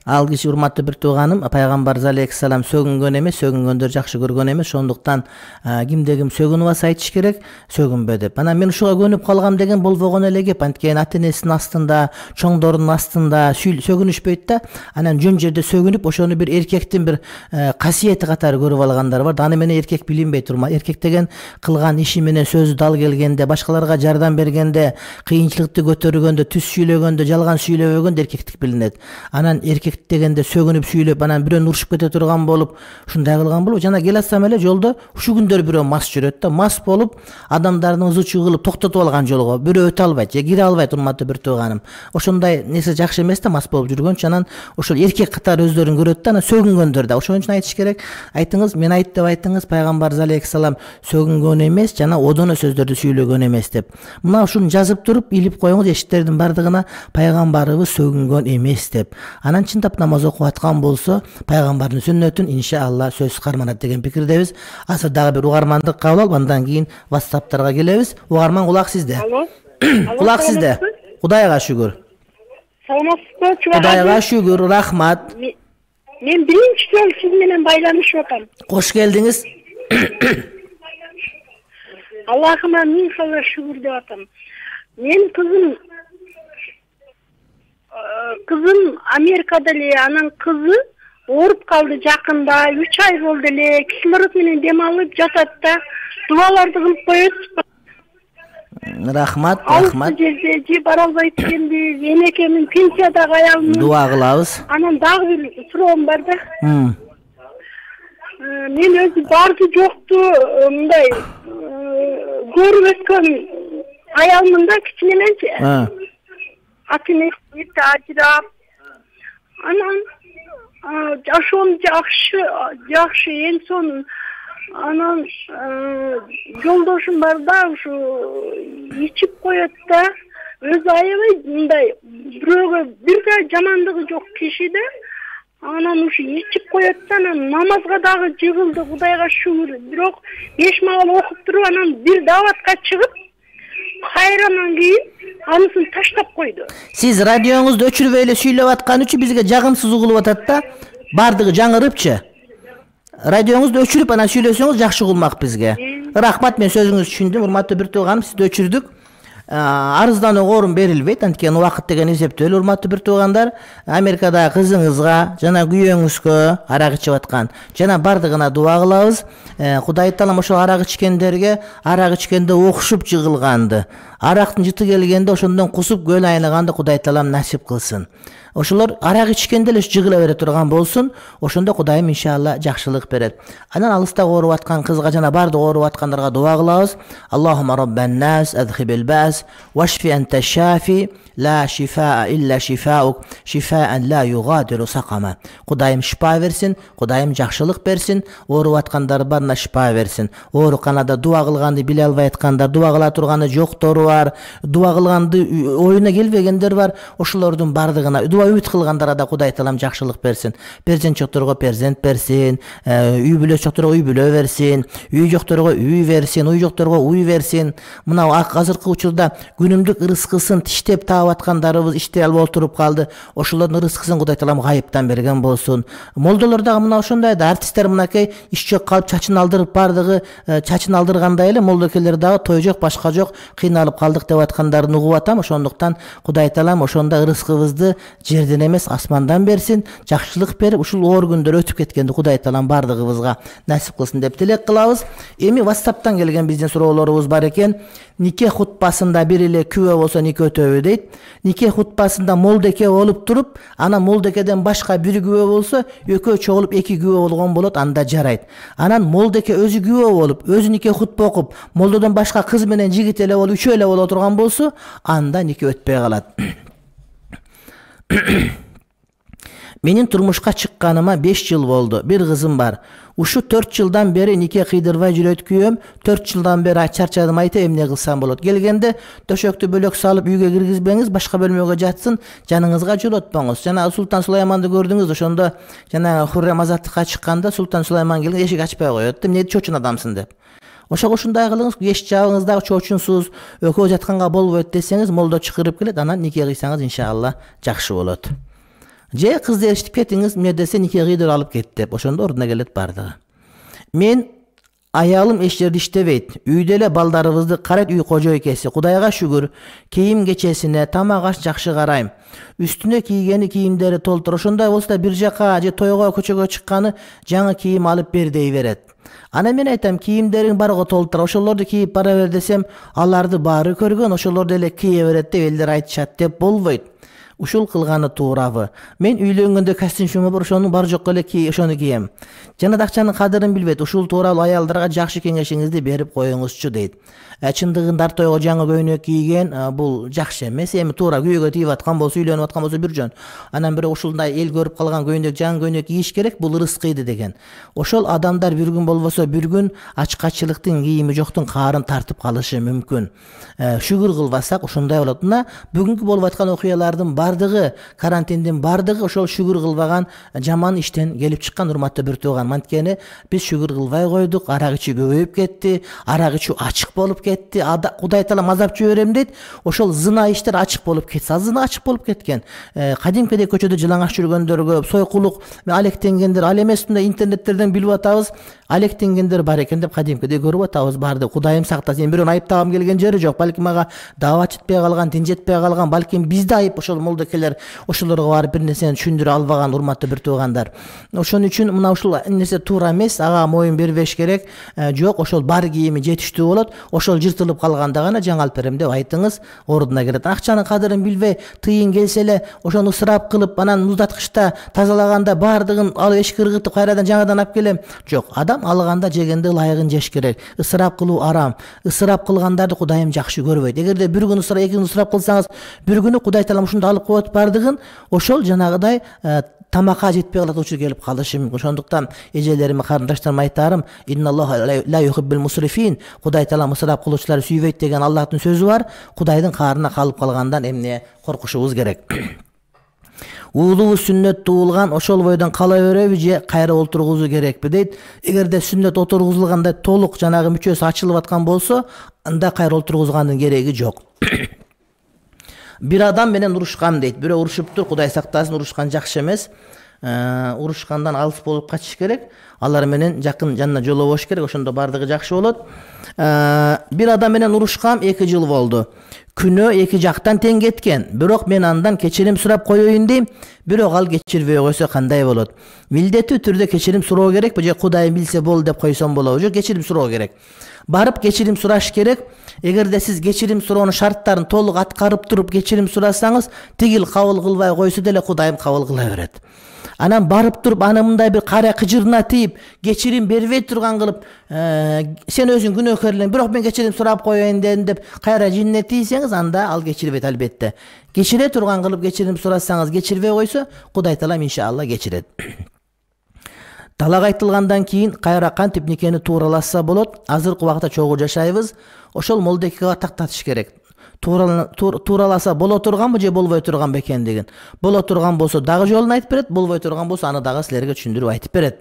Ал киши, урматтуу бир тууганым, пайгамбарыбыз алейхиссалам сөгүнгөн эмес, сөгүнгөндөр жакшы көргөн эмес. Ошондуктан кимде ким сөгүнүп алса айтыш керек, сөгүнбө деп. Анан мен ушуга көнүп калгам деген болбогон эле кеп. Анткени ата-энесинин астында, чоңдордун астында сөгүнүшпөйт да. Анан жөн жерде сөгүнүп, ошону бир эркектин бир касиети катары көрүп алгандар бар. Аны менен эркек билинбей турма. Эркек деген кылган иши менен сөзү дал келгенде, башкаларга жардам бергенде, кыйынчылыкты көтөргөндө, түз сүйлөгөндө, жалган сүйлөбөгөндө эркектик билинет. Анан эркек дегенде сөгүнүп сүйлөп, анан бирөөнү урушуп кете турган болуп, ушундай кылган болуп, жана келатсам эле жолдо ушу күндөр бирөө мас жүрөт да, мас болуп, адамдарды ызы-чуу кылып токтотуп алган жолго бирөө өтө албайт, же кире албайт, урматтуу бир тууганым. Ошондой нерсе жакшы эмес да, мас болуп жүргөнчө, анан ошол эркек катары өздөрүн көрөт да, анан сөгүнгөндөр да. Ошон үчүн айтыш керек. Айтыңыз, мен айт деп айтыңыз, пайгамбарыбыз алейхиссалам сөгүнгөн эмес, жана одоно сөздөрдү сүйлөгөн эмес деп. Мына ушуну жазып туруп, илип коюңуз эшиктердин бардыгына, пайгамбарыбыз сөгүнгөн эмес деп. Анан чындап намаз окуп аткан болсо, пайгамбардын сүннөтүн иншалла сөзсүз карманат деген пикирдебиз. Азыр дагы бир угармандык кабыл алып, андан кийин WhatsApp'тарга келебиз. Угарман, кулак сизде. Алло. Кулак сизде. Кудайга шүгүр. Саламатсызбы, чубак? Кудайга шүгүр, рахмат. Мен биринчи жолу сиз менен байланышып атам. Кош келдиңиз. Аллахыма миң салла шүгүр деп атам. Мен кызым Кызым Америкада эле, анан кызы ооруп калды жакында, үч ай болду эле. Кислород менен дем алып жатат да. Дуаларды кылып коесузбу? Рахмат, рахмат. Ал жерде же бара албайт экенбиз. Энекемин пенсиядагы аялымын. Дуа кылабыз. Анан дагы бир суроом бар да. Мен өзү барды жокту мындай көрүп өткөн аялмын да, кичинеменчи. Ата-энеси ажырап, анан жашоом жакшы, жакшы эң сонун. Анан жолдошум бар да, ушу ичип коет да, өзү аябай мындай бирөөгө бир жамандыгы жок киши да. Анан ушу ичип коет да, анан намазга дагы жыгылды, Кудайга шүгүр. Бирок беш маал окуп туруп, анан бир дааватка чыгып, кайрандан кийин анысын таштап койду. Сиз радионузду өчүрбөй эле сүйлөп аткан үчүн бизге жагымсыз угулуп атат да. Бардыгы жаңырыпчы. Радионузду өчүрүп анан сүйлөсөңүз жакшы угулмак бизге. Рахмат, мен сөзүңүздү түшүндүм. Урматтуу бир тууганым, сизди өчүрдүк. Арызданууга орун берилбейт, анткени убакыт деген эсептөө эле. Урматтуу бир туугандар, Америкадагы кызыңызга жана күйөөңүзгө арак ичип аткан жана бардыгына дуа кылабыз. Кудай таалам ошол арак ичкендерге арак ичкенде окшуп жыгылганды, арактын жыты келгенде ошондон кусуп көл айныганды Кудай таалам насип кылсын. Ошолор арак ичкенде эле жыгыла бере турган болсун. Ошондо Кудайым иншалла жакшылык берет. Анан алыстагы ооруп аткан кызга жана бардык ооруп аткандарга дуа кылабыз. Аллахумма раббан нас адхибил бас вашфи анта шафи ла шифаа илля шифаук шифаан ла югадиру сакама. Кудайым шифа берсин, Кудайым жакшылык берсин, ооруп аткандар барына шифа берсин. Ооруканада дуа кылганды биле албай аткандар, дуа кыла турганы жоктору бар, дуа кылганды оюна келбегендер бар. Ошолордун бардыгына үмүт кылгандарга да Кудай таалам жакшылык берсин. Перзент жокторго перзент берсин, үй бүлө жокторго үй бүлө берсин, үй жокторго үй берсин, уй жокторго уй берсин. Мына азыркы учурда күнүмдүк ырыскысын тиштеп таап аткандарыбыз иштей албай отуруп калды. Ошолордун ырыскысын Кудай таалам гайыптан берген болсун. Молдолор дагы мына ошондой да, артисттер мынакей иш жок калып чачын алдырып бардыгы чачын алдыргандай эле молдокелер дагы той жок, башка жок, кыйналып калдык деп аткандарын угуп атам. Ошондуктан Кудай таалам ошондо ырыскыбызды жерден эмес асмандан берсин, жакшылык берип ушул оор күндөр өтүп кеткенди Кудай таалам бардыгыбызга насип кылсын деп тилек кылабыз. Эми WhatsApp'тан келген биздин суроолорубуз бар экен. Нике хутбасында бир эле күбө болсо нике өтөбү дейт. Нике хутбасында молдеке болуп туруп, анан молдекеден башка бир күбө болсо, экөө чогулуп эки күбө болгон болот, анда жарайт. Анан молдеке өзү күбө болуп, өзү нике хутба окуп, молдодон башка кыз менен жигит эле болуп, үчөө эле боло турган болсо, анда нике өтпөй калат. Менин турмушка чыкканыма беш жыл болду. Бир кызым бар. Ушу төрт жылдан бери нике кыйдырбай жүрөт күйөөм. төрт жылдан бери чарчадым, айта эмне кылсам болот. Келгенде төшөктү бөлөк салып үйгө киргизбеңиз, башка бөлмөгө жатсын, жаныңызга жолотпоңуз. Жана Султан Сулайманды көрдүңүз, ошондо жана Хуррем азаттыкка чыкканда Султан Сулайман келген, эшик ачпай коет. Эмне чочун адамсың деп. Ошого ушундай кылыңыз, еш жабыңыз дагы чочунсуз, экөө жатканга болбойт десеңиз, молдо чакырып келет, анан нике кыйсаңыз иншалла жакшы болот. Же кызды эриштип кетиңиз, эмне десе нике кыйдырып алып кет деп, ошондо ордуна келет бардыгы. Мен аялым эч жерде иштебейт. Үйдө эле балдарыбызды карайт, үй кожойкеси. Кудайга шүгүр, кийим кечесине, тамак аш жакшы карайм. Үстүнө кийгени кийимдери толтур. Ошондой болсо бир жака же тойго, көчөгө чыкканы жаңы кийим алып бер дей берет. Анан мен айтам, кийимдериң барго толтур, ошолорду кийип бара бер десем, аларды баары көргөн, ошолорду эле кие берет деп элдер айтышат деп болбойт. Ушул кылганы туурабы? Мен үйлөнгөндө костюм бар, ошонун бар жок эле ки ошону кием. Жана акчанын кадырын билбейт. Ушул тууралуу аялдарга жакшы кеңешиңизди берип коюңузчу дейт. Чындыгында тойго жаңы көйнөк кийген бул жакшы эмес. Эми туура күйөөгө тийип аткан болсо, үйлөнүп аткан болсо бир жөн. Анан бирок ушундай эл көрүп калган көйнөк, жаңы көйнөк кийиш керек, бул ырыскыйды деген. Ошол адамдар бир күн болбосо бир күн ачкачылыктын, кийими жоктун каарын тартып калышы мүмкүн. Шүгүр кылбасак ушундай болот. Мына бүгүнкү болуп аткан окуялардын бардыгы, карантиндин бардыгы ошол шүгүр кылбаган жаман иштен келип чыккан, урматтуу бир тууган. Анткени биз шүгүр кылбай койдук, арак ичүү көбөйүп кетти, арак ичүү ачык болуп кетти. Кудай таалам азап жиберем дейт. Ошол зына иштер ачык болуп кетсе, зына ачык болуп кеткен. Кадимкидей көчөдө жылаңаш жүргөндөр көп, сойкулук, алектенгендер, ал эмес мындай интернеттерден билип атабыз, алектенгендер бар экен деп кадимкидей көрүп атабыз барды. Кудайым сактасын. Бирөөнү айыптагым келген жери жок. Балким ага даават жетпей калган, дин жетпей калган, балким бизде айып ошол молдокелер ошолорго барып бир нерсени түшүндүрө албаган, урматтуу бир туугандар. Ошон үчүн мына ушул нерсе туура эмес, ага моюн бербеш керек. Жок, ошол бар кийими жетиштүү болот. Ошол жыртылып калганда гана жаңалып берем деп айтыңыз, ордуна келет. Акчанын кадырын билбей, тыйын келсе эле ошону ысырап кылып, анан муздаткычта тазалаганда бардыгын алып эшикке ыргытып кайрадан жаңадан алып келем. Жок, адам алганда жегенде ылайыгын жеш керек. Ысырап кылуу арам. Ысырап кылгандарды Кудайым жакшы көрбөйт. Эгерде бир күн ысырап, эки күн ысырап кылсаңыз, бир күнү Кудай таалам ушунда алып коет бардыгын, ошол жанагыдай тамакка жетпей калат учур келип калышы мүмкүн. Ошондуктан эжелериме, карындаштарыма айтарым, инналлаха ла юхиббул мусрифин, Кудай таала мысырап кылуучуларды сүйбөйт деген Аллахтын сөзү бар. Кудайдын каарына калып калгандан эмне коркушубуз керек. Уулубуз сүннөт туулган, ошол бойдон кала береби же кайра олтургузуу керекпи дейт. Эгерде сүннөт отургузулганда толук жанагы мүчөсү ачылып аткан болсо, анда кайра олтургузгандын кереги жок. Бир адам менен урушкам дейт. Бирөө урушуптур, Кудай сактасын, урушкан жакшы эмес. Урушкандан алыс болуп качыш керек. Алар менен жакын жанына жолобош керек, ошондо бардыгы жакшы болот. Бир адам менен урушкам эки жыл болду. Күнөө эки жактан тең кеткен. Бирок мен андан кечирим сурап коеюн дейм. Бирок ал кечирбей койсо кандай болот? Милдеттүү түрдө кечирим суроо керекпи же Кудай билсе болду деп койсом болобу? Жок, кечирим суроо керек. Барып кечирим сураш керек. Эгерде сиз кечирим суроонун шарттарын толук аткарып туруп кечирим сурасаңыз, тигил кабыл кылбай койсо деле Кудайым кабыл кыла берет. Анан барып туруп аны мындай бир кара кыжырына тийип, кечирим бербей турган кылып, сен өзүң күнөөкөр элең, бирок мен кечирим сурап коеюн дедим деп кайра жинне тийсеңиз, анда ал кечирбейт албетте. Кечире турган кылып кечирим сурасаңыз, кечирбей койсо, Кудай таалам иншалла кечирет. Талак айтылгандан кийин кайра кантип никени туураласа болот? Азыркы убакта чогуу жашайбыз. Ошол молдекеге тактатыш керек. Туураласа боло турганбы же болбой турганбы экендигин. Боло турган болсо дагы жолун айтып берет, болбой турган болсо аны дагы силерге түшүндүрүп айтып берет.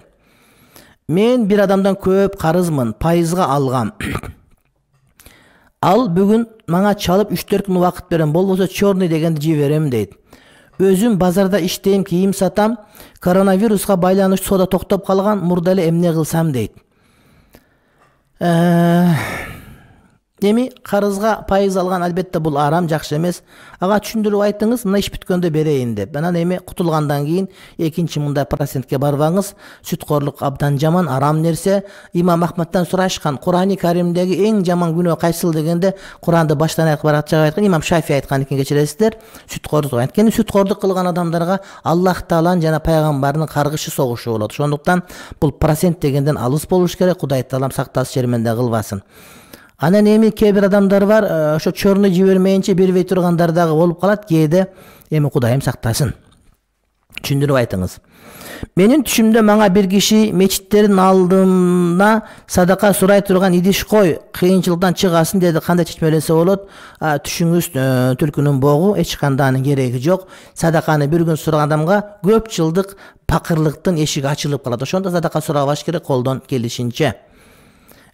Мен бир адамдан көп карызмын, пайызга алгам. Ал бүгүн мага чалып үч төрт күн убакыт берем, болбосо чорный дегенди жиберем дейт. Өзүм базарда иштейм, кийим сатам, коронавируска байланыштуу соода токтоп калган, мурда эле эмне кылсам дейт. Эми карызга пайыз алган албетте бул арам, жакшы эмес. Ага түшүндүрүп айтыңыз, мына иш бүткөндө берейин деп. Анан эми кутулгандан кийин экинчи мындай процентке барбаңыз. Сүткорлук абдан жаман, арам нерсе. Имам Ахмадтан сурашкан, Курани Каримдеги эң жаман күнөө кайсыл дегенде, Куранды баштан аяк баракчага айткан, Имам Шафи айткан экен, кечиресиздер. Сүткорлук. Анткени сүткорлук кылган адамдарга Аллах Тааланын жана пайгамбарынын каргышы согушу болот. Ошондуктан бул процент дегенден алыс болуш керек. Кудай Таалам сактасын, шерменде кылбасын. Анан эми кээ бир адамдар бар, ошо чорный жибермейинче бербей тургандар дагы болуп калат. Кээде эми Кудайым сактасын. Түшүндүрүп айтыңыз. Менин түшүмдө мага бир киши мечиттердин алдына садака сурай турган идиш кой, кыйынчылыктан чыгасын деди. Кандай чечмелесе болот? Түшүңүз түлкүнүн богу, эч кандай анын кереги жок. Садаканы бир күн сураган адамга көп жылдык пакырлыктын эшиги ачылып калат. Ошондо садака сурабаш керек колдон келишинче.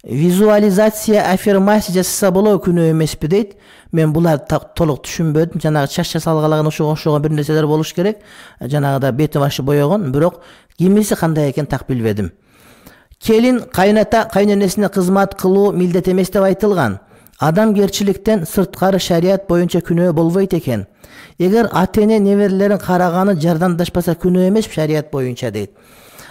Визуализация, аффирмация жасаса болобу, күнөө эмеспи дейт. Мен буларды толук түшүнбөдүм. Жанагы чач жасалгалаган ошого окшогон бир нерселер болуш керек. Жанагыда бети башы боёгон, бирок кимиси кандай экен так билбедим. Келин кайната кайненесине кызмат кылуу милдет эмес деп айтылган. Адамгерчиликтен сырткары шарият боюнча күнөө болбойт экен. Эгер ата-эне неберелерин караганы жардамдашпаса күнөө эмес шарият боюнча дейт.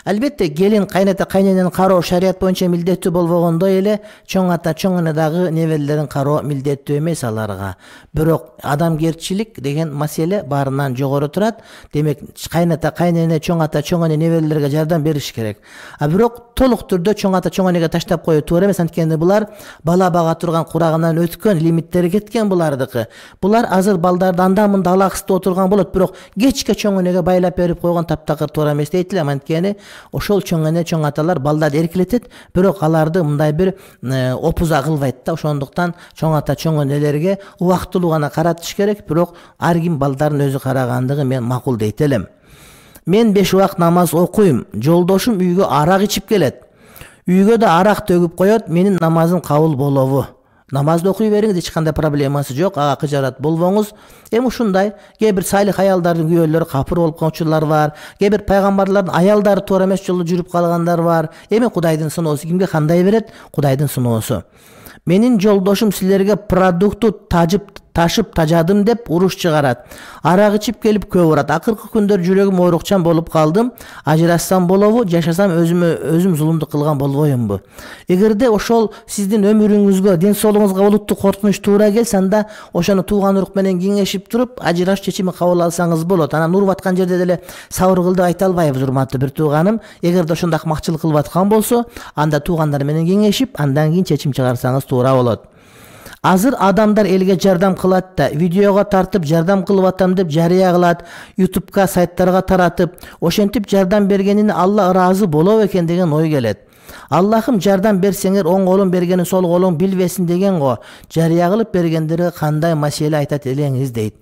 Албетте келин кайната кайненени кароо шарият боюнча милдеттүү болбогондой эле чоң ата чоң эне дагы неберелерин кароо милдеттүү эмес аларга. Бирок адамгерчилик деген маселе баарынан жогору турат. Демек кайната кайнене чоң ата чоң эне неберелерге жардам бериш керек. А бирок толук түрдө чоң ата чоң энеге таштап коюу туура эмес. Анткени булар бала бага турган курагынан өткөн, лимиттери кеткен булардыкы. Булар азыр балдарды анда мында алаксыз отурган болот, бирок кечке чоң энеге байлап берип койгон таптакыр туура эмес дейт элем. Анткени ошол чоң эне чоң аталар балдарды эркелетет, бирок аларды мындай бир опуза кылбайт да. Ошондуктан чоң ата чоң энелерге убактылуу гана каратыш керек, бирок ар ким балдарын өзү карагандыгы мен макул дейт элем. Мен беш убакыт намаз окуйм. Жолдошум үйгө арак ичип келет. Үйгө да арак төгүп коет, менин намазым кабыл болобу? Намазды окуй бериңиз, эч кандай проблемасы жок. Ага кыжарат болбоңуз. Эми ушундай кээ бир салих аялдардын күйөөлөрү капыр болуп калган учурлар бар. Кээ бир пайгамбарлардын аялдары туура эмес жолдо жүрүп калгандар бар. Эми Кудайдын сыноосу кимге кандай берет? Кудайдын сыноосу. Менин жолдошум силерге продукту тажып ташып тажадым деп уруш чыгарат. Арак ичип келип көп урат. Акыркы күндөр жүрөгүм оорукчан болуп калдым. Ажырассам болобу, жашасам өзүмө өзүм зулумдук кылган болбоймунбу? Эгерде ошол сиздин өмүрүңүзгө, ден соолугуңузга олуттуу коркунуч туура келсе, анда ошону тууган урук менен кеңешип туруп, ажыраш чечими кабыл алсаңыз болот. Анан уруп аткан жерде деле сабыр кыл деп айта албайбыз, урматтуу бир тууганым. Эгерде ошондой акмакчылык кылып аткан болсо, анда туугандар менен кеңешип, андан кийин чечим чыгарсаңыз туура болот. Азыр адамдар элге жардам кылат да, видеого тартып жардам кылып атам деп жарыя кылат, ютубка, сайттарга таратып, ошентип жардам бергенине Алла ыраазы болобу экен деген ой келет. Аллахым жардам берсеңер оң колун бергени сол колуң билбесин деген го. Жарыя кылып бергендери кандай маселе айтат элеңиз дейт.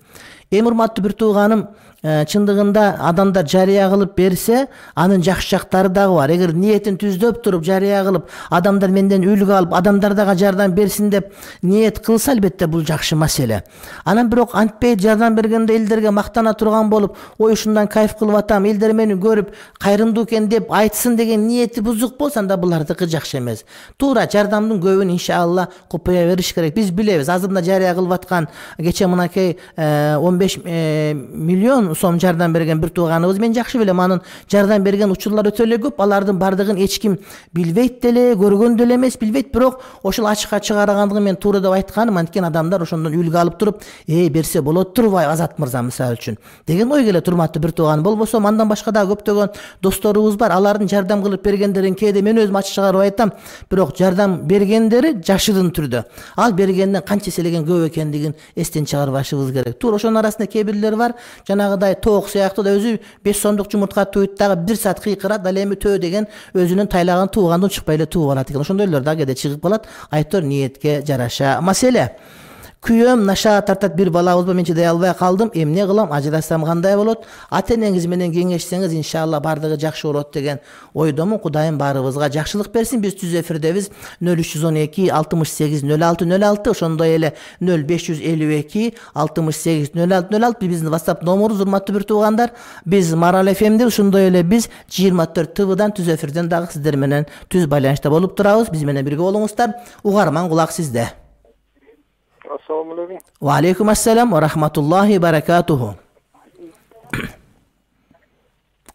Эми урматтуу бир тууганым, чындыгында адамдар жарыя кылып берсе, анын жакшы жактары дагы бар. Эгер ниетин түздөп туруп жарыя кылып, адамдар менден үлгү алып, адамдар дагы жардам берсин деп ниет кылса, албетте бул жакшы маселе. Анан бирок антпей жардам бергенде элдерге мактана турган болуп, ой ушундан кайф кылып атам, элдер мени көрүп кайрымдуу экен деп айтсын деген ниети бузук болсо, анда булардыкы жакшы эмес. Туура жардамдын көбүн иншалла купая бериш керек. Биз билебиз, азыр мына жарыя кылып аткан кече мынакей он беш миллион сом жардам берген бир тууганыбыз, мен жакшы билем, анын жардам берген учурлары өтө эле көп. Алардын бардыгын эч ким билбейт деле, көргөн деле эмес, билбейт, бирок ошол ачыкка чыгаргандыгы мен туура деп айтканым, анткени адамдар ошондон үлгү алып туруп, эй берсе болот турбайбы Азат мырза мисалы үчүн деген ой келет. Урматтуу бир тууган, болбосо андан башка дагы көптөгөн досторубуз бар. Алардын жардам кылып бергендерин кээде мен өзүм ачык чыгарып айтам, бирок жардам бергендери жашырын түрдө, ал бергенден канча эселеген көп экендигин эстен чыгарбашыбыз керек. Туура ошонун арасында кээ бирлер бар, жанагыдай тоок сыяктуу да өзү беш сомдук жумуртка туйт дагы бир саат кыйкырат, ал эми төө деген өзүнүн тайлаган туугандан чыкпай эле тууп алат экен. Ошондойлор дагы кээде чыгып калат. Айтор ниетке жараша маселе. Күйөөм наша тартат бир балабыз бар, мен чыдай албай калдым, эмне кылам, ажырасам кандай болот? Ата энеңиз менен кеңешсеңиз иншалла бардыгы жакшы болот деген ойдомун. Кудайым баарыбызга жакшылык берсин. Биз түз эфирдебиз нөл үч жүз он эки алтымыш сегиз нөл алты нөл алты, ошондой эле нөл беш жүз элүү эки алтымыш сегиз нөл алты нөл алты биздин WhatsApp номерубуз. Урматтуу бир туугандар, биз Марал эф эмде, ошондой эле биз жыйырма төрт Т Вдан түз эфирден дагы сиздер менен түз байланышта болуп турабыз. Биз менен бирге болуңуздар. Угарман кулак сизде. Assalamu alaikum. Wa alaikum assalam wa rahmatullahi barakatuhu.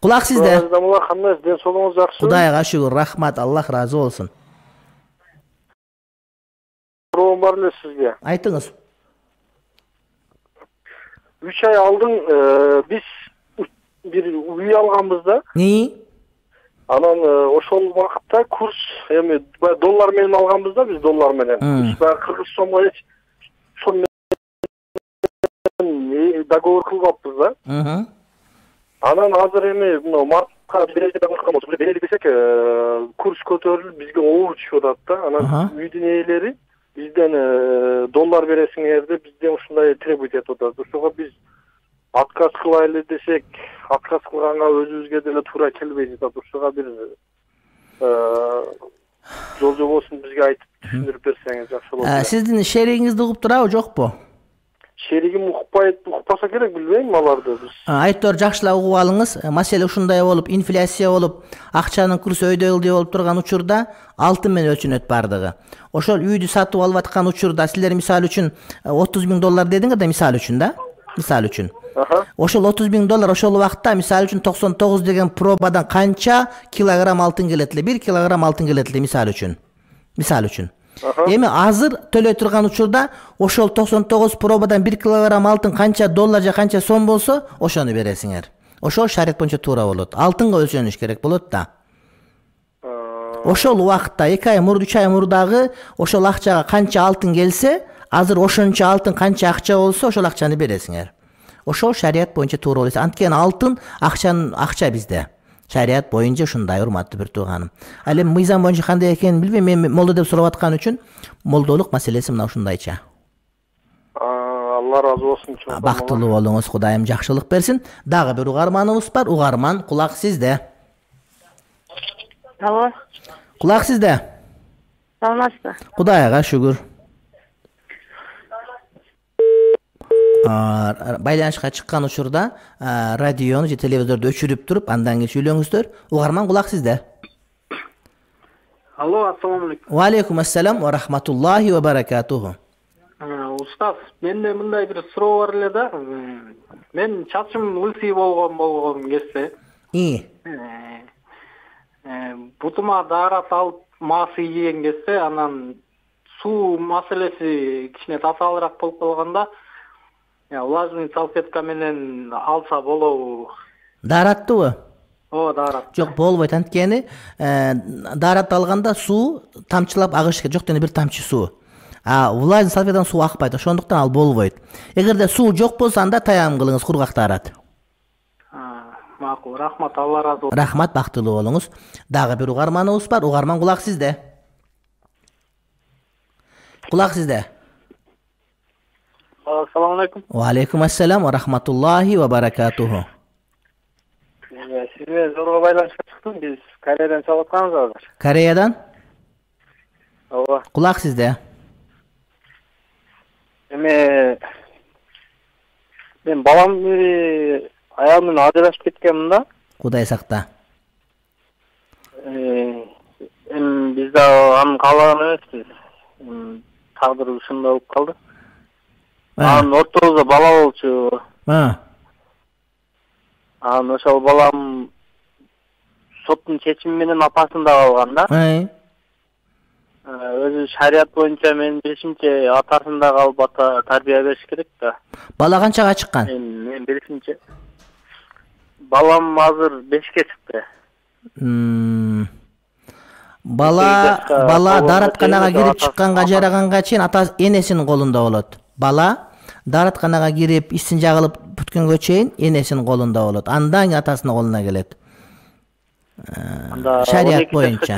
Kulak sizde. Azdamullah kandaysiz? Den soluğunuz жақсы? Kudayga şükür, rahmat, Allah razı olsun. Soruğum var mı sizge? Aytыңыз. Üç ay aldın, e, biz bir uy alganbızda. Neyi? Anan e, oşol vakıtta kurs, yani dollar menen alganbızda, biz dollar menen. Hmm. Biz kırgız somga hiç son договор кылгаппыз да. Анан азыр эми мына мартка берели деп аткан болсок, берели десек, курс көтөрүлүп бизге оор түшүп атат да. Анан үйдүн ээлери бизден доллар бересиңер деп бизден ушундай требовать этип атат. Ошого биз отказ кылайлы десек, отказ кылганга өзүбүзгө деле туура келбей жатат. Ошого бир жол жобосун бизге айтып түшүндүрүп берсеңиз жакшы болот. Сиздин шеригиңизди угуп турабы, жокпу? Шеригим укпайт, укпаса керек, билбейм аларды биз. Айтор жакшылап угуп алыңыз. Маселе ушундай болуп, инфляция болуп, акчанын курсу өйдөлдү болуп турган учурда алтын менен өлчөнөт бардыгы. Ошол үйдү сатып алып аткан учурда силер мисалы үчүн отуз миң доллар дедиңер да, мисалы үчүн да? Мисалы үчүн. Ошол отуз миң доллар ошол убакта мисалы үчүн токсон тогуз деген пробадан канча килограмм алтын келет эле? бир килограмм алтын келет эле мисалы үчүн. Мисалы үчүн. Эми азыр төлөй турган учурда ошол токсон тогуз пробадан бир килограмм алтын канча доллар же канча сом болсо, ошону бересиңер. Ошол шарият боюнча туура болот. Алтынга өлчөнүш керек болот да. Ошол убакта эки ай мурда, үч ай мурдагы ошол акчага канча алтын келсе, азыр ошончо алтын канча акча болсо, ошол акчаны бересиңер. Ошол шарият боюнча туура болот. Анткени алтын акчанын акча bizde. Шарият боюнча ушундай, урматтуу бир тууганым. Ал эми мыйзам боюнча кандай экенин билбейм, мен молдо деп сурап аткан үчүн молдолук маселеси мына ушундайча. Алла разы болсун. Бактылуу болуңуз, Кудайым жакшылык берсин. Дагы бир угарманыбыз бар. Угарман, кулак сизде. Алло. Кулак сизде. Саламатсызбы? Кудайга шүгүр. Байланышка чыккан учурда радиону же телевизорду өчүрүп туруп, андан кийин сүйлөңүздөр. Угарман, кулак сизде. Алло, ассаламу алейкум. Ва алейкум ассалам ва рахматуллахи ва баракатуху. Устаз, менде мындай бир суроо бар эле да. Мен чачым лысый болгон болгон кезде. И. Бутума даарат алып маасы ийген кезде, анан суу маселеси кичине татаалыраак болуп калганда, влажный салфетка менен алса болобу? Даараттыбы? Ооба, даарат. Жок, болбойт. Анткени даарат алганда суу тамчылап агыш керек. Жок, дене бир тамчы суу. А влажный салфеткадан суу акпайт, ошондуктан ал болбойт. Эгерде суу жок болсо анда таям кылыңыз, кургактарат. Макул, рахмат, Алла разы болсун. Рахмат, бактылуу болуңуз. Дагы бир угарманыбыз бар. Угарман, кулак сизде. Кулак сизде. Ассаламу алейкум. Ва алейкум ассалам ва рахматуллахи ва баракатуху. Сиз менен зорго байланышка чыктым. Биз Кореядан чалып атканбыз азыр. Кореядан? Ооба. Кулак сизде. Эме мен балам аялым менен ажырашып кеткенмин да. Кудай сакта. Эми биз да аны каалаган эмеспиз. Тагдыр ушундай болуп калды. Анын ортобузда бала болчу. Анан ошол балам соттун чечими менен апасында калган да. Өзү шарият боюнча менин билишимче атасында калып ата тарбия бериш керек да. Бала канчага чыккан? Мен билишимче балам азыр бешке чыкты. Бала бала даратканага кирип чыкканга жараганга чейин ата энесинин колунда болот. Бала даратканага кирип исин жагылып бүткөнгө чейин энесинин колунда болот. Андан кийин атасынын колуна келет. Шарият боюнча.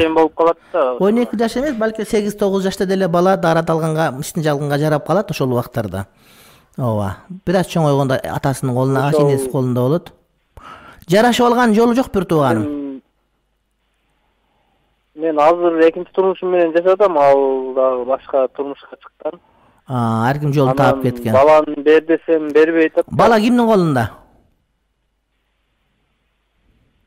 он эки жаш эмес, балки сегиз тогуз жашта деле бала дарат алганга, исин жагылганга жарап калат ошол убактарда. Ооба. Бир аз чоңойгондо атасынын колуна, энесинин колунда болот. Жарашып алган жолу жок бир тууганым. Мен азыр экинчи турмушум менен жашадым, ал дагы башка турмушка чыккан. А, ар ким жол таап кеткен. Баланы бер десем бербей атат. Бала кимдин колунда?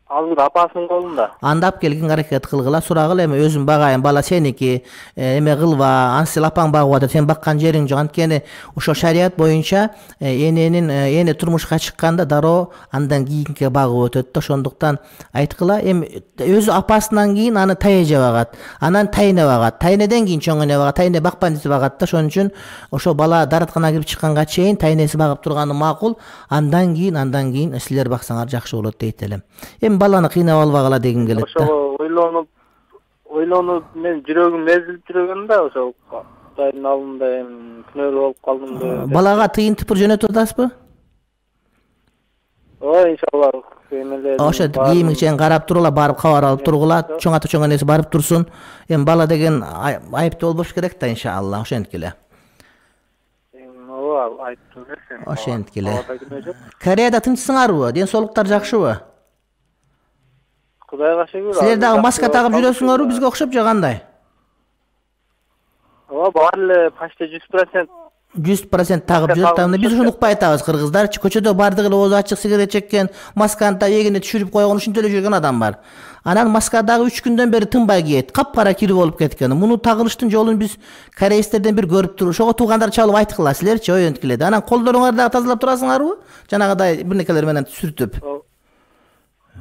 Азыр апасынын колунда. Анда алып келгин, аракет кылгыла, сурагыла, эми өзүм багайын, бала сеники, эме кылба, аны сен апаң багып атат, сен баккан жериң жок. Анткени ошо шарият боюнча эненин эне турмушка чыкканда дароо андан кийинки багып өтөт да. Ошондуктан айткыла, эми өзү апасынан кийин аны тайеже багат, анан тайне багат, тайнеден кийин чоң эне багат, тайне бакпайм десе багат да. Ошон үчүн ошо бала даратканага кирип чыкканга чейин тайнеси багып турганы макул. Андан кийин, андан кийин силер баксаңар жакшы болот дейт элем. Эми баланы кыйнап албагыла дегим келет да. Ошо ойлонуп, ойлонуп мен жүрөгүм эзилип жүргөн да, ошо Кудайдын алдында эми күнөөлүү болуп калдым деп. Балага тыйын тыпыр жөнөтүп атасызбы? Ой, иншалла. Ошо кийимиңчен карап турула, барып кабар алып тургула, чоң ата чоң энеси барып турсун. Эми бала деген айыптуу болбош керек да, иншалла. Ошенткиле. Ооба, айыптуу эмес. Ошенткиле. Кореяда тынчсыңарбы? Ден соолуктар жакшыбы? Кудайга шүгүр. Силер дагы маска тагып жүрөсүңөрбү бизге окшоп же кандай? Ооба, баары эле почти жүз процент жүз процент тагып жүрөт. Анда биз ушуну укпай атабыз, кыргыздарчы. Көчөдө бардыгы эле оозу ачык сигарет чеккен, масканы да эгине түшүрүп койгон, ушинтип эле жүргөн адам бар. Анан маска дагы үч күндөн бери тынбай кийет. Капкара кири болуп кеткен. Муну тагылыштын жолун биз кореецтерден бир көрүп туруп, ошого туугандар чалып айткыла, силерчи ой өнткиледи. Анан колдоруңарды дагы тазалап турасыңарбы? Жанагыдай бир некелер менен сүртүп.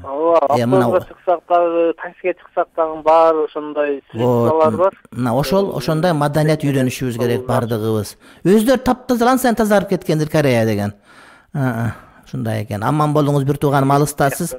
Ооба, автобуска чыксак дагы, таксиге чыксак дагы баары ошондой средстволор бар. Мына ошол ошондой маданият үйрөнүшүбүз керек бардыгыбыз. Өздөрү таптаза ансен тазарып кеткендир Корея деген. Ушундай экен. Аман болуңуз бир тууганым, алыстасыз.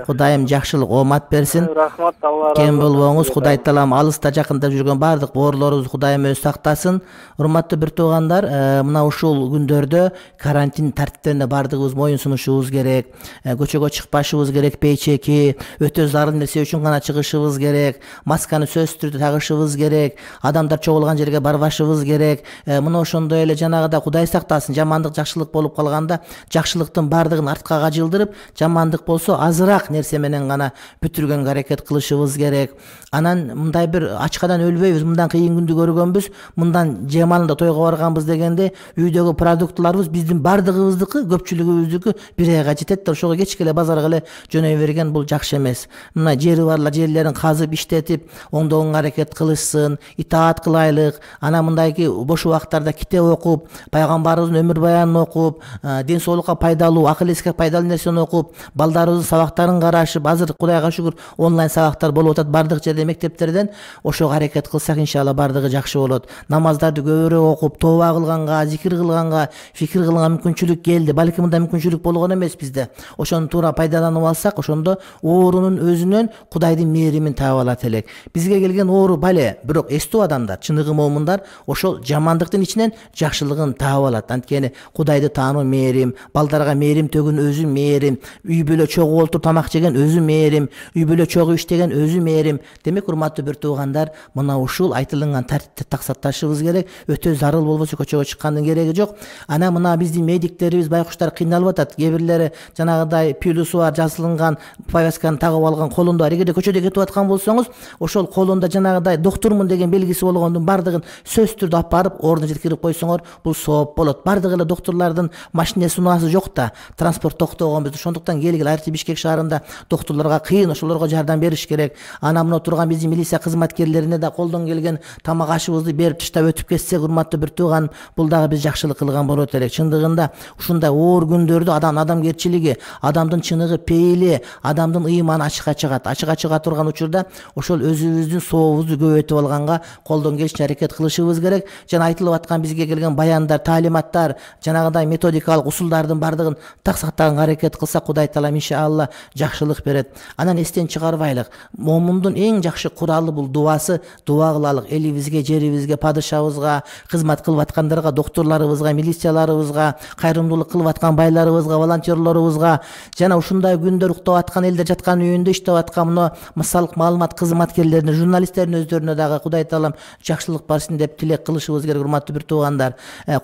Кудайым жакшылык, оомат берсин. Рахмат, Алла разы болсун. Кем болбоңуз, Кудай таалам алыста жакында жүргөн бардык боорлорубузду Кудайым өзү сактасын. Урматтуу бир туугандар, мына ушул күндөрдө карантин тартиптерине бардыгыбыз моюн сунушубуз керек. Көчөгө чыкпашыбыз керек, пейчеки, өтө зарыл нерсе үчүн гана чыгышыбыз керек. Масканы сөзсүз түрдө тагышыбыз керек. Адамдар чогулган жерге барбашыбыз керек. Мына ошондой эле жанагыда Кудай сактасын, жамандык жакшылык болуп калганда, жакшылыктын бардыгын артка кажылдырып, жамандык болсо азыраак нерсе менен гана бүтүргөнгө аракет кылышыбыз керек. Анан мындай бир ачкадан өлбөйбүз, мындан кыйын күндү көргөнбүз, мындан жемалында тойго барганбыз дегенде үйдөгү продуктларыбыз биздин бардыгыбыздыкы, көпчүлүгүбүздүкү бир айга жетет да, ошого кечке эле базарга эле жөнөй берген, бул жакшы эмес. Мына жери барлар жерлерин казып иштетип, оңдогонго аракет кылышсын, итаат кылайлык. Анан мындайки бош убактарда китеп окуп, пайгамбарыбыздын өмүр баянын окуп, ден соолукка пайдалуу акыл эске пайдалуу нерсени окуп, балдарыбыздын сабактарын карашып, азыр Кудайга шүгүр онлайн сабактар болуп атат бардык жерде, мектептерден. Ошого аракет кылсак, иншалла бардыгы жакшы болот. Намаздарды көбүрөөк окуп, тооба кылганга, зикир кылганга, фикир кылганга мүмкүнчүлүк келди. Балким мындай мүмкүнчүлүк болгон эмес бизде. Ошону туура пайдаланып алсак, ошондо оорунун өзүнөн Кудайдын мээримин таап алат элек. Бизге келген оору бале, бирок эстүү адамдар, чыныгы момундар ошол жамандыктын ичинен жакшылыгын таап алат. Анткени Кудайды таануу мээрим, балдарга мээрим төгүн өзү мээрим, үй бүлө чогуу олтуруп тамак жеген өзү мээрим, үй бүлө чогуу иштеген өзү мээрим. Демек, урматтуу бир туугандар, мына ушул айтылган тартипти таксатташыбыз керек. Өтө зарыл болбосо көчөгө чыккандын кереги жок. Ана мына биздин медиктерибиз, байкуштар кыйналып атат. Кээ бирлери жанагыдай пилюсу бар, жазылган повязканы тагып алган, колунда бар. Эгерде көчөдө кетип аткан болсоңуз, ошол колунда жанагыдай доктурмун деген белгиси болгондун бардыгын сөзсүз түрдө алып барып ордуна жеткирип койсоңор, бул сооп болот. Бардыгы эле доктурлардын машинеси унаасы жок да, транспорт токтогон биз. Ошондуктан келгил Арти Бишкек шаарында доктурларга кыйын, ошолорго жардам бериш керек. Ана мына турган биздин милиция кызматкерлерине да колдон келген тамак ашыбызды берип таштап өтүп кетсек, урматтуу бир тууган, бул дагы биз жакшылык кылган болот элек. Чындыгында ушундай оор күндөрдө адамдын адамгерчилиги, адамдын чыныгы, пейили, адамдын ыйманы ачыкка чыгат. Ачыкка чыга турган учурда ошол өзүбүздүн сообузду көбөйтүп алганга колдон келишинче аракет кылышыбыз керек. Жана айтылып аткан бизге келген баяндар, таалиматтар, жанагыдай методикалык усулдардын бардыгын так сактаганга аракет кылсак, Кудай таалам иншалла жакшылык берет. Анан эстен чыгарбайлык, момундун эң жакшы куралы бул дуасы. Дуа кылалык элибизге, жерибизге, падышабызга, кызмат кылып аткандарга, доктурларыбызга, милицияларыбызга, кайрымдуулук кылып аткан байларыбызга, волонтерлорубузга, жана ушундай күндөр уктап аткан элдер жаткан үйүндө иштеп аткан мына мисалдык маалымат кызматкерлерине, журналисттердин өздөрүнө дагы Кудай таалам жакшылык барсын деп тилек кылышыбыз керек. Урматтуу бир туугандар,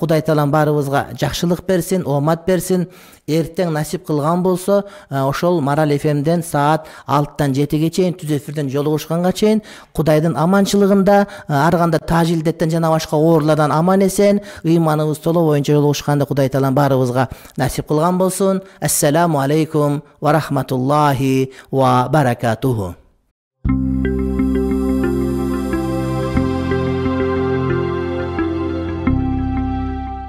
Кудай таалам баарыбызга жакшылык берсин, оомат берсин. Эртең насип кылган болсо, ошол Марал эф эмден саат алтыдан жетиге чейин түз эфирден жолугушканга чейин Кудайдын аманчылыгында, ар кандай тажилдеттен жана башка оорулардан аман эсен, ыйманыбыз толо боюнча жолугушканда Кудай таалам баарыбызга насип кылган болсун. Ассаламу алейкум ва рахматуллахи ва баракатуху.